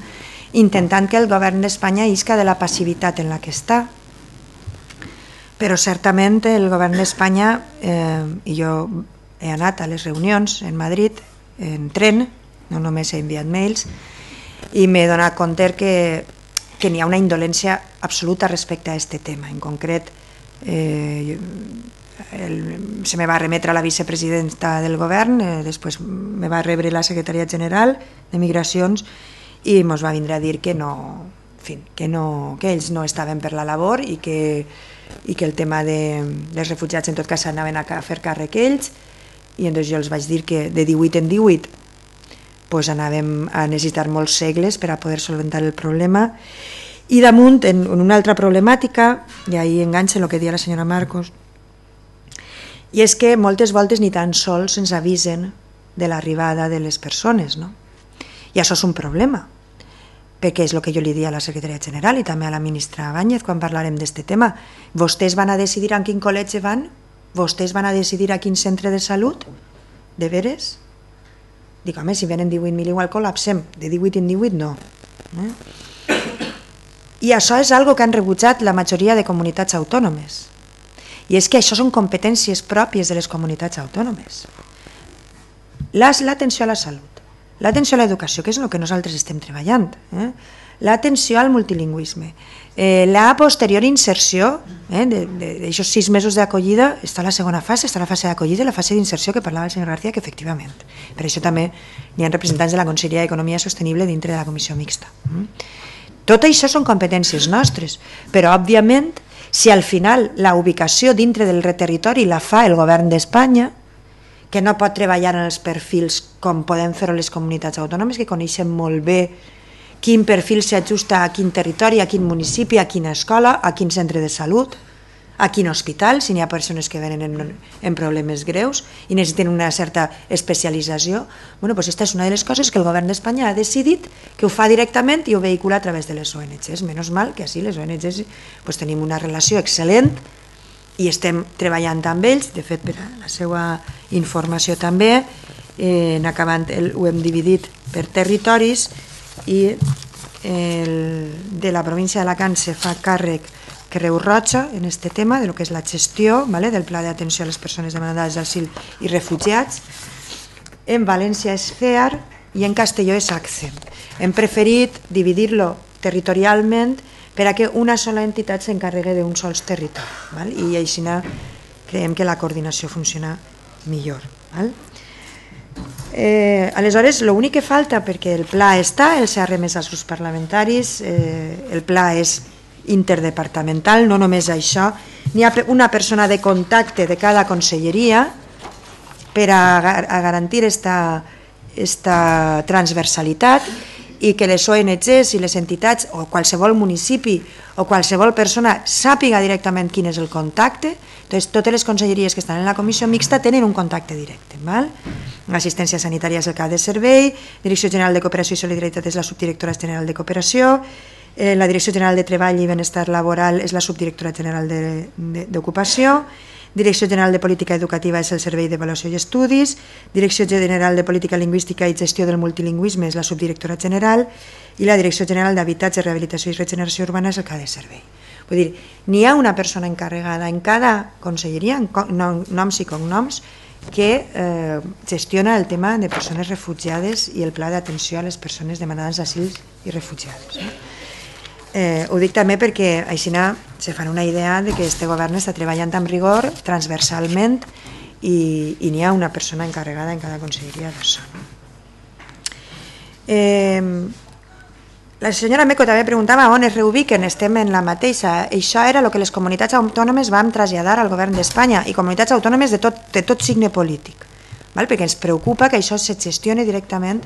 S1: intentant que el govern d'Espanya isca de la passivitat en la que està, però certament el govern d'Espanya, i jo he anat a les reunions en Madrid en tren, no només he enviat mails, i m'he donat compte que n'hi ha una indolència absoluta respecte a aquest tema. En concret, se me va remetre a la vicepresidenta del govern, després me va rebre la secretària general de Migracions i ens va vindre a dir que no, en fi, que ells no estaven per la labor i que el tema dels refugiats en tot cas s'anaven a fer càrrec ells, i llavors jo els vaig dir que de 18 en 18 doncs anàvem a necessitar molts segles per a poder solventar el problema. I damunt, en una altra problemàtica, i ahí enganxa el que deia la senyora Marcos, i és que moltes voltes ni tan sols ens avisen de l'arribada de les persones, no? I això és un problema, perquè és el que jo li dia a la secretària general i també a la ministra Báñez quan parlarem d'aquest tema. Vostès van a decidir a quin col·legi van? Vostès van a decidir a quin centre de salut? De veres? Dic, home, si venen 18.000 igual col·lapsem, de 18 en 18 no. I això és algo que han rebutjat la majoria de comunitats autònomes. I és que això són competències pròpies de les comunitats autònomes. L'atenció a la salut, l'atenció a l'educació, que és el que nosaltres estem treballant, l'atenció al multilingüisme, la posterior inserció, d'aixòs 6 mesos d'acollida, està la segona fase, està la fase d'acollida i la fase d'inserció que parlava el senyor García, que efectivament. Per això també hi ha representants de la Conselleria d'Economia Sostenible dintre de la comissió mixta. Tot això són competències nostres, però òbviament si al final la ubicació dintre del territori la fa el govern d'Espanya, que no pot treballar en els perfils com podem fer-ho les comunitats autònomes, que coneixen molt bé quin perfil s'ajusta a quin territori, a quin municipi, a quina escola, a quin centre de salut, a quin hospital, si n'hi ha persones que venen en problemes greus i necessiten una certa especialització. Bueno, doncs aquesta és una de les coses que el govern d'Espanya ha decidit que ho fa directament i ho vehicula a través de les ONGs. Menys mal que així les ONGs tenim una relació excel·lent i estem treballant amb ells. De fet, per a la seva informació també, ho hem dividit per territoris i de la província d'Alacant se fa càrrec Creu Roja en aquest tema, del que és la gestió del Pla d'Atenció a les Persones Demandades d'Asil i Refugiats. En València és CEAR i en Castelló és ACCE. Hem preferit dividir-lo territorialment per a que una sola entitat s'encarregui d'un sol territori, i així creiem que la coordinació funciona millor. Aleshores, l'únic que falta, perquè el pla està, el s'ha remès als grups parlamentaris, el pla és interdepartamental, no només això, n'hi ha una persona de contacte de cada conselleria per a garantir esta transversalitat i que les ONGs i les entitats o qualsevol municipi o qualsevol persona sàpiga directament quin és el contacte. Totes les conselleries que estan en la comissió mixta tenen un contacte directe. L'assistència sanitària és el cap de servei, Direcció General de Cooperació i Solidaritat és la subdirectora general de Cooperació, la Direcció General de Treball i Benestar Laboral és la subdirectora general d'Ocupació, Direcció General de Política Educativa és el Servei d'Avaluació i Estudis, Direcció General de Política Lingüística i Gestió del Multilingüisme és la subdirectora general i la Direcció General d'Habitatge, Rehabilitació i Regeneració Urbana és el cap de servei. Vull dir, n'hi ha una persona encarregada en cada conselleria, noms i cognoms, que gestiona el tema de persones refugiades i el pla d'atenció a les persones demanades d'asil i refugiades. Ho dic també perquè així se fan una idea de que este govern està treballant amb rigor, transversalment, i n'hi ha una persona encarregada en cada conselleria d'això. La senyora Meco també preguntava on es reubiquen, estem en la mateixa. Això era el que les comunitats autònomes vam traslladar al govern d'Espanya i comunitats autònomes de tot signe polític, perquè ens preocupa que això se gestioni directament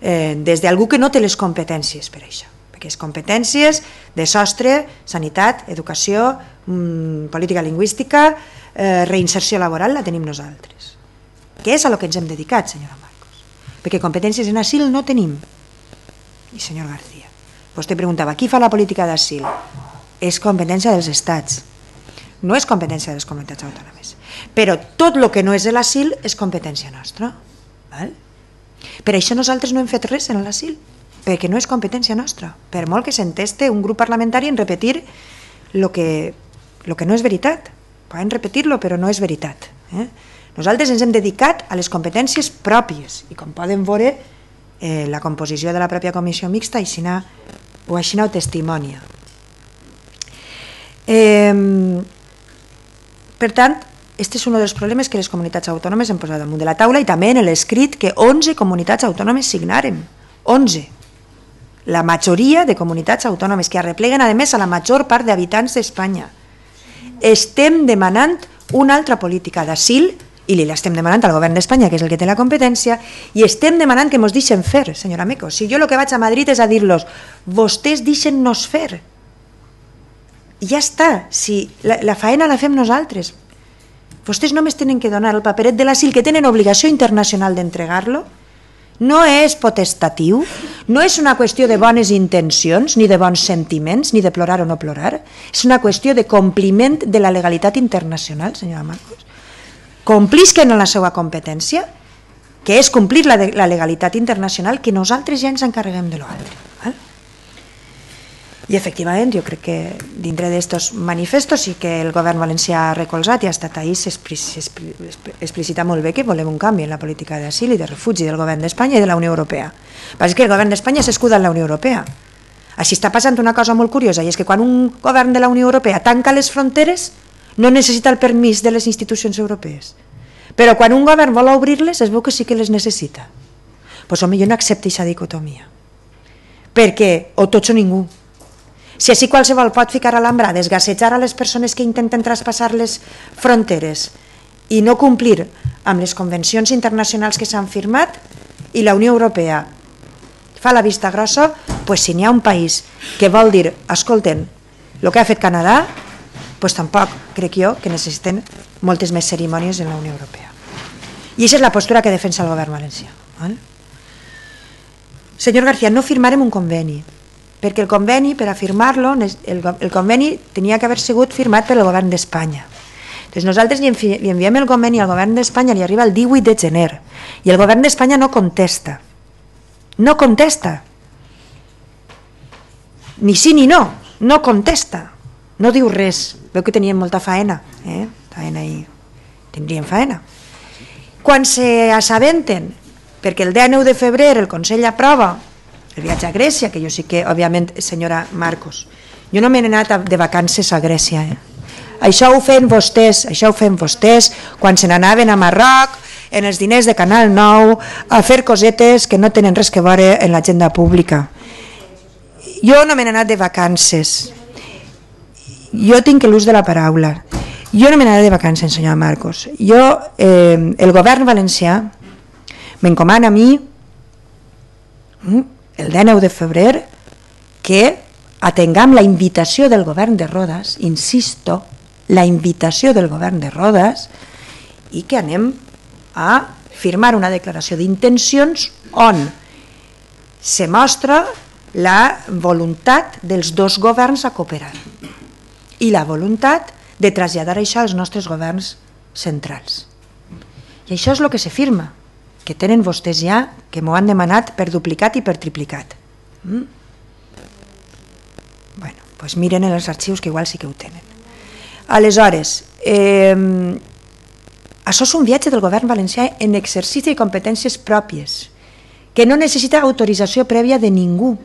S1: des d'algú que no té les competències per això, perquè les competències de sostre, sanitat, educació, política lingüística, reinserció laboral la tenim nosaltres, que és a lo que ens hem dedicat, senyora Marcos, perquè competències en asil no tenim. I senyor García, vostè preguntava, qui fa la política d'asil? És competència dels estats, no és competència de les comunitats autònomes, però tot el que no és l'asil és competència nostra. Per això nosaltres no hem fet res en l'asil, perquè no és competència nostra, per molt que s'enteste un grup parlamentari en repetir el que no és veritat. Poden repetir-lo, però no és veritat. Nosaltres ens hem dedicat a les competències pròpies i com poden veure la composició de la pròpia comissió mixta així ho testimonia. Per tant, aquest és un dels problemes que les comunitats autònomes han posat damunt de la taula i també en l'escrit que 11 comunitats autònomes signaren. 11. La majoria de comunitats autònomes que arrepleguen a més a la major part d'habitants d'Espanya. Estem demanant una altra política d'asil i li l'estem demanant al govern d'Espanya, que és el que té la competència, i estem demanant que ens deixen fer, senyora Meco. Si jo el que vaig a Madrid és a dir-los, vostès deixen-nos fer. I ja està, si la faena la fem nosaltres. Vostès només tenen que donar el paperet de l'asil, que tenen obligació internacional d'entregar-lo. No és potestatiu, no és una qüestió de bones intencions, ni de bons sentiments, ni de plorar o no plorar. És una qüestió de compliment de la legalitat internacional, senyora Marcos. Complisquen en la seva competència, que és complir la legalitat internacional, que nosaltres ja ens encarreguem de l'altre. I efectivament, jo crec que dintre d'aquests manifestos sí que el govern valencià ha recolzat i ha estat ahí, s'explicita molt bé que volem un canvi en la política d'asil i de refugi del govern d'Espanya i de la Unió Europea. És que el govern d'Espanya s'escuda en la Unió Europea. Així està passant una cosa molt curiosa, i és que quan un govern de la Unió Europea tanca les fronteres no necessita el permís de les institucions europees. Però quan un govern vol obrir-les es veu que sí que les necessita. Doncs home, jo no accepto aquesta dicotomia. Perquè o tots o ningú. Si així qualsevol pot ficar a l'embrada, desgassejar a les persones que intenten traspassar les fronteres i no complir amb les convencions internacionals que s'han firmat i la Unió Europea fa la vista grossa, doncs si n'hi ha un país que vol dir, escolten, el que ha fet Canadà, doncs tampoc crec jo que necessiten moltes més cerimònies en la Unió Europea. I aquesta és la postura que defensa el govern valencià. Senyor García, no firmarem un conveni, perquè el conveni, per a firmar-lo, el conveni tenia que haver sigut firmat pel govern d'Espanya. Doncs nosaltres li enviem el conveni al govern d'Espanya, li arriba el 18 de gener, i el govern d'Espanya no contesta. No contesta. Ni sí ni no, no contesta. No diu res. Veu que tenien molta faena. Tindrien faena. Quan s'assabenten, perquè el 19 de febrer el Consell aprova el viatge a Grècia, que jo sí que, òbviament, senyora Marcos, jo no m'he anat de vacances a Grècia, Això ho feien vostès quan se n'anaven a Marroc, en els diners de Canal 9, a fer cosetes que no tenen res que veure en l'agenda pública. Jo no m'he anat de vacances. Jo tinc l'ús de la paraula. Jo no m'he anat de vacances, senyor Marcos. El govern valencià m'encomana a mi, el 19 de febrer, que atengam la invitació del govern de Rodes, insisto, la invitació del govern de Rodes, i que anem a firmar una declaració d'intencions on se mostra la voluntat dels dos governs a cooperar i la voluntat de traslladar això als nostres governs centrals. I això és el que se firma, que tenen vostès ja, que m'ho han demanat per duplicat i per triplicat. Bueno, doncs miren en els arxius que igual sí que ho tenen. Aleshores, això és un viatge del govern valencià en exercici de competències pròpies, que no necessita autorització prèvia de ningú.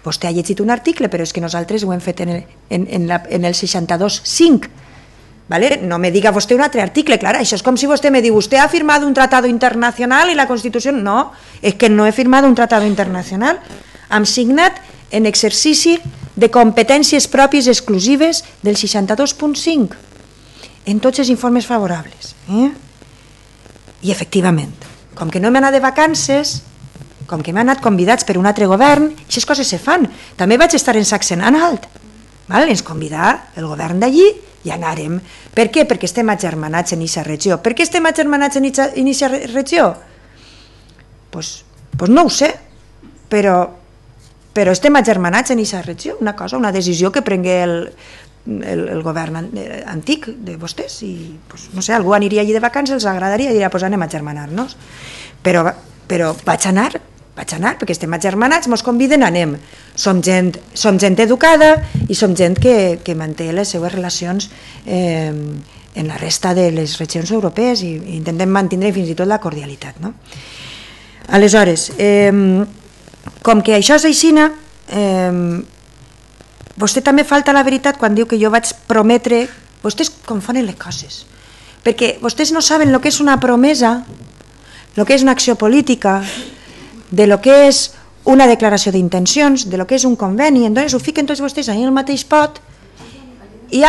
S1: Vostè ha llegit un article, però és que nosaltres ho hem fet en el 62.5. No me diga vostè un altre article, clar, això és com si vostè me diu, vostè ha firmat un tratado internacional i la Constitució... No, és que no he firmat un tratado internacional, hem signat en exercici de competències pròpies exclusives del 62.5 en tots els informes favorables. I efectivament, com que no m'he anat de vacances, com que m'he anat convidats per un altre govern, aquestes coses se fan. També vaig estar en Sachsen-Anhalt, ens convidà el govern d'allí i anàrem. Per què? Perquè estem agermanats en aquesta regió. Per què estem agermanats en aquesta regió? Doncs no ho sé, però estem agermanats en aquesta regió, una decisió que prengué el govern antic de vostès i, no sé, algú aniria allí de vacances, els agradaria i diria, doncs anem a agermanar-nos. Però vaig anar, perquè estem agermanats, ens conviden, anem. Som gent educada i som gent que manté les seues relacions en la resta de les regions europees i intentem mantenir fins i tot la cordialitat. Aleshores, com que això és aixina, vostè també falta la veritat quan diu que jo vaig prometre... Vostès confonen les coses, perquè vostès no saben el que és una promesa, el que és una acció política, de lo que és una declaració d'intencions, de lo que és un conveni, entonces ho fiquen tots vostès ahí en el mateix pot i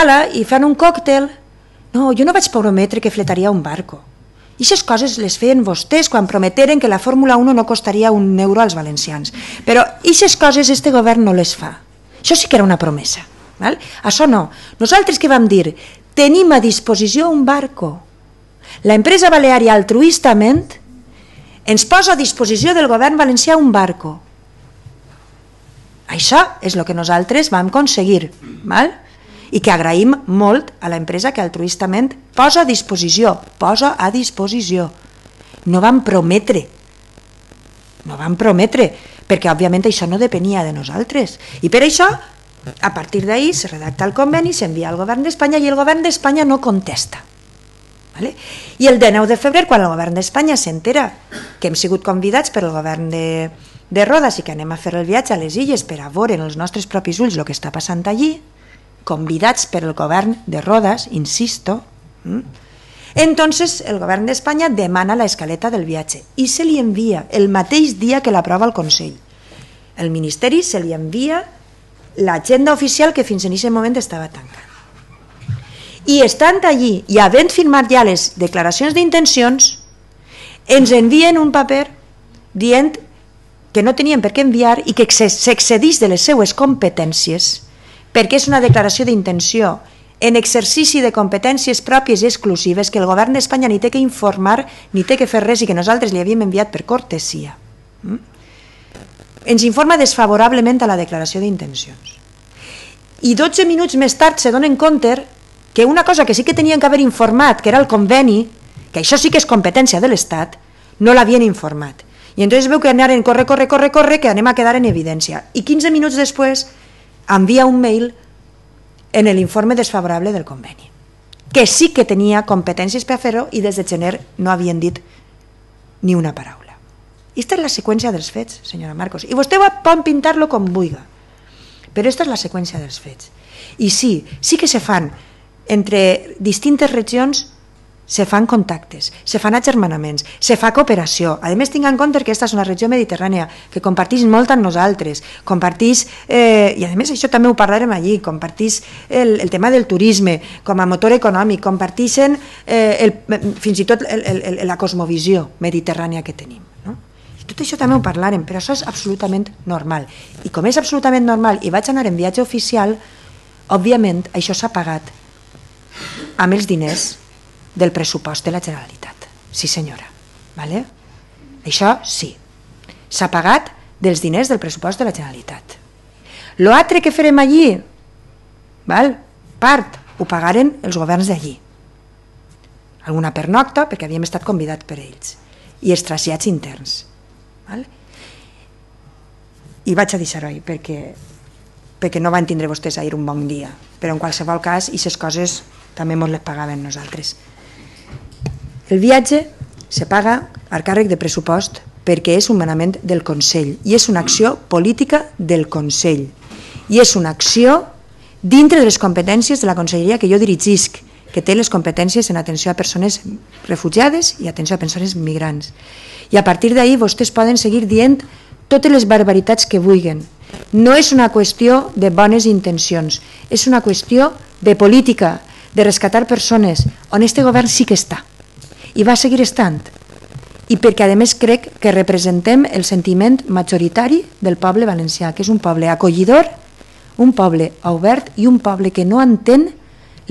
S1: fan un còctel. No, jo no vaig prometre que fletaria un barco. I aquestes coses les feien vostès quan prometeren que la Fórmula 1 no costaria €1 als valencians. Però aquestes coses este govern no les fa. Això sí que era una promesa. Això no. Nosaltres què vam dir? Tenim a disposició un barco. L'empresa Baleària altruistament ens posa a disposició del govern valencià un barco. Això és el que nosaltres vam aconseguir, i que agraïm molt a l'empresa que altruistament posa a disposició. No vam prometre, perquè òbviament això no depenia de nosaltres. I per això, a partir d'ahir, se redacta el conveni, s'envia al govern d'Espanya i el govern d'Espanya no contesta. I el 19 de febrer, quan el govern d'Espanya s'entera que hem sigut convidats per el govern de Rodes i que anem a fer el viatge a les illes per a veure en els nostres propis ulls el que està passant allí, convidats per el govern de Rodes, insisto, entonces el govern d'Espanya demana la escaleta del viatge i se li envia el mateix dia que l'aprova el Consell. El Ministeri se li envia l'agenda oficial que fins en aquest moment estava tancada. I estant allí i havent firmat ja les declaracions d'intencions, ens envien un paper dient que no tenien per què enviar i que s'excedís de les seues competències perquè és una declaració d'intenció en exercici de competències pròpies i exclusives que el govern d'Espanya ni té que informar ni té que fer res i que nosaltres li havíem enviat per cortesia. Ens informa desfavorablement a la declaració d'intencions. I 12 minuts més tard se donen compte que una cosa que sí que tenien que haver informat, que era el conveni, que això sí que és competència de l'Estat, no l'havien informat. I entonces veu que anaren corre, que anem a quedar en evidència. I 15 minuts després envia un mail en l'informe desfavorable del conveni, que sí que tenia competències per fer-ho i des de gener no havien dit ni una paraula. Aquesta és la seqüència dels fets, senyora Marcos. I vostè pot pintar-lo com vulgui. Però aquesta és la seqüència dels fets. I sí que se fan, entre distintes regions, se fan contactes, se fan agermanaments, se fa cooperació. A més, tinc en compte que aquesta és una regió mediterrània que compartís molt amb nosaltres, compartís, i a més això també ho parlarem allí, compartís el tema del turisme com a motor econòmic, compartixen fins i tot la cosmovisió mediterrània que tenim. Tot això també ho parlarem, però això és absolutament normal. I com és absolutament normal i vaig anar en viatge oficial, òbviament això s'ha pagat amb els diners del pressupost de la Generalitat. Sí, senyora. Vale? Això sí. S'ha pagat dels diners del pressupost de la Generalitat. L'altre que farem allí, part, ho pagaren els governs d'allí. Alguna pernocta, perquè havíem estat convidats per ells. I els trasllats interns. I vaig a deixar-ho ahí perquè no van tindre vostès ahir un bon dia, però en qualsevol cas aquestes coses també ens les pagaven nosaltres. El viatge se paga a càrrec de pressupost perquè és un manament del Consell i és una acció política del Consell i és una acció dintre de les competències de la conselleria que jo dirigisc, que té les competències en atenció a persones refugiades i atenció a persones migrants. I a partir d'ahir vostès poden seguir dient totes les barbaritats que vulguin. No és una qüestió de bones intencions, és una qüestió de política, de rescatar persones, on este govern sí que està, i va seguir estant. I perquè a més crec que representem el sentiment majoritari del poble valencià, que és un poble acollidor, un poble obert i un poble que no entén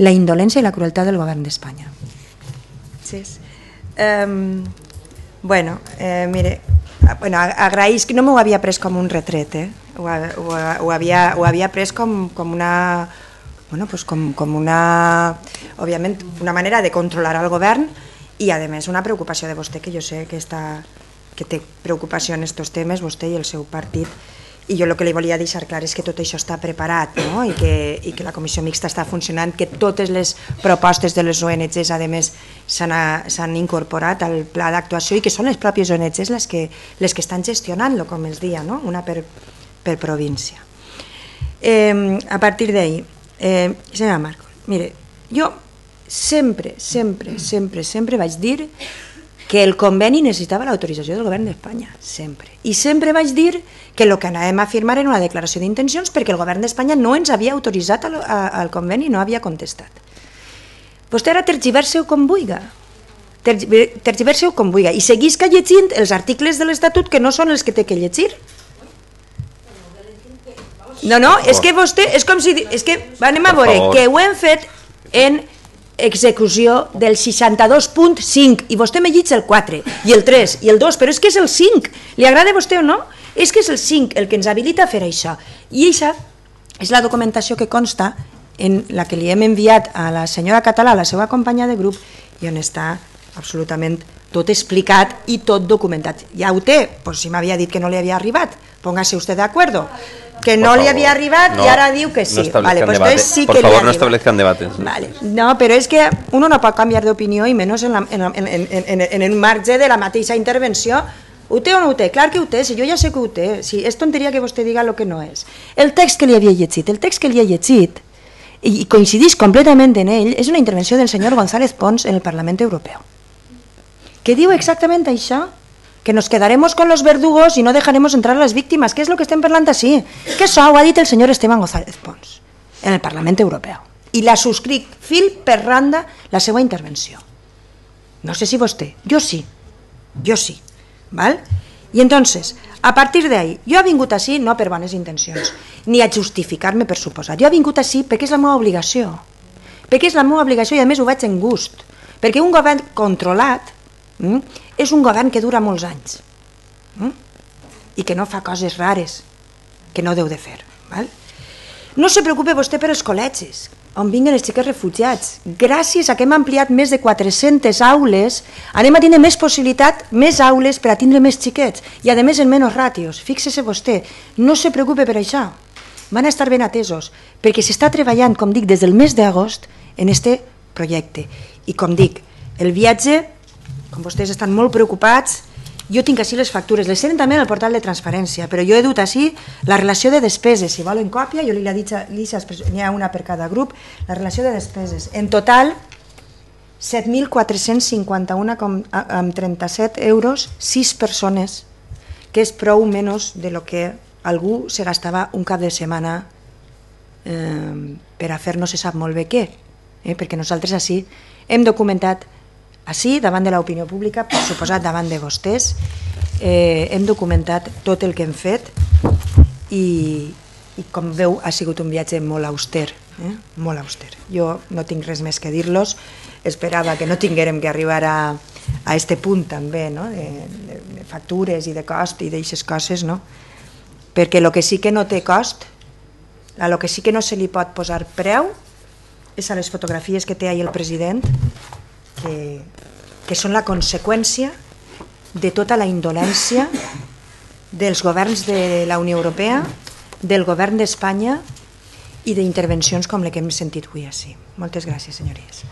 S1: la indolència i la crueltat del govern d'Espanya. Sí. Mire, agraïs que no m'ho havia pres com un retret, ho havia pres com una, òbviament, una manera de controlar el govern i, a més, una preocupació de vostè, que jo sé que té preocupació en aquests temes, vostè i el seu partit, i jo el que li volia deixar clar és que tot això està preparat, i que la comissió mixta està funcionant, que totes les propostes de les ONGs, a més, s'han incorporat al pla d'actuació i que són les pròpies ONGs les que estan gestionant-lo, com els dia, una per província. A partir d'ahí, senyora Marcos, mire, jo sempre vaig dir que el conveni necessitava l'autorització del govern d'Espanya, sempre. I sempre vaig dir que el que anàvem a firmar era una declaració d'intencions perquè el govern d'Espanya no ens havia autoritzat al conveni i no havia contestat. Vostè ara tergiversa-ho com vulgui. Tergiversa-ho com vulgui. I seguisca llegint els articles de l'Estatut que no són els que té que llegir. No, és que vostè, és com si... És que anem a veure que ho hem fet en execució del 62.5 i vostè me llig el 4 i el 3 i el 2, però és que és el 5, li agrada a vostè o no? És que és el 5 el que ens habilita a fer això, i això és la documentació que consta en la que li hem enviat a la senyora Català, a la seva companya de grup, i on està absolutament tot explicat i tot documentat. Ja ho té, doncs si m'havia dit que no li havia arribat, póngase usted de acuerdo. Que no li havia arribat i ara diu que sí. Vale, pues entonces sí que
S3: por favor, no establezcan debates.
S1: Vale. No, però és que uno no pot canviar d'opinió i menys en el marge de la mateixa intervenció. Ho té o no ho té? Clar que ho té, si jo ja sé que ho té. Si és tonteria que vostè diga el que no és. El text que li havia llegit, i coincidís completament en ell, és una intervenció del senyor González Pons en el Parlament Europeu, que diu exactament això, que nos quedaremos con los verdugos y no dejaremos entrar a las víctimas, que és el que estem parlant així, que això ho ha dit el senyor Esteban González Pons en el Parlament Europeu, i la subscric fil per randa la seva intervenció. No sé si vostè, jo sí, val? I entonces, a partir d'ahí, jo he vingut així no per bones intencions, ni a justificar-me per suposar, jo he vingut així perquè és la meva obligació, i a més ho vaig en gust, perquè un govern controlat és un govern que dura molts anys i que no fa coses rares que no deu de fer. No se preocupe vostè per els col·legis on vinguen els xiquets refugiats. Gràcies a que hem ampliat més de 400 aules, anem a tindre més possibilitat, més aules per a tindre més xiquets i a més en menys ràtios. Fíxese vostè, no se preocupe per això, van estar ben atesos perquè s'està treballant, com dic, des del mes d'agost en este projecte. I com dic, el viatge, com vostès estan molt preocupats Jo tinc així les factures, les tenen també en el portal de transparència, però jo he dut així la relació de despeses. Si volen còpia, jo li he dit a Lisa, n'hi ha una per cada grup, la relació de despeses. En total, 7.451,37 euros, 6 persones, que és prou menys de lo que algú se gastava un cap de setmana per a fer no se sap molt bé què, perquè nosaltres així hem documentat, així davant de l'opinió pública, per suposat davant de vostès, hem documentat tot el que hem fet i com veu ha sigut un viatge molt auster, molt auster. Jo no tinc res més que dir-los, esperava que no tinguérem que arribar a este punt també, de factures i de cost i d'aixes coses, perquè el que sí que no té cost, el que sí que no se li pot posar preu és a les fotografies que té ahir el president, que són la conseqüència de tota la indolència dels governs de la Unió Europea, del govern d'Espanya i d'intervencions com la que hem sentit avui així. Moltes gràcies, senyories.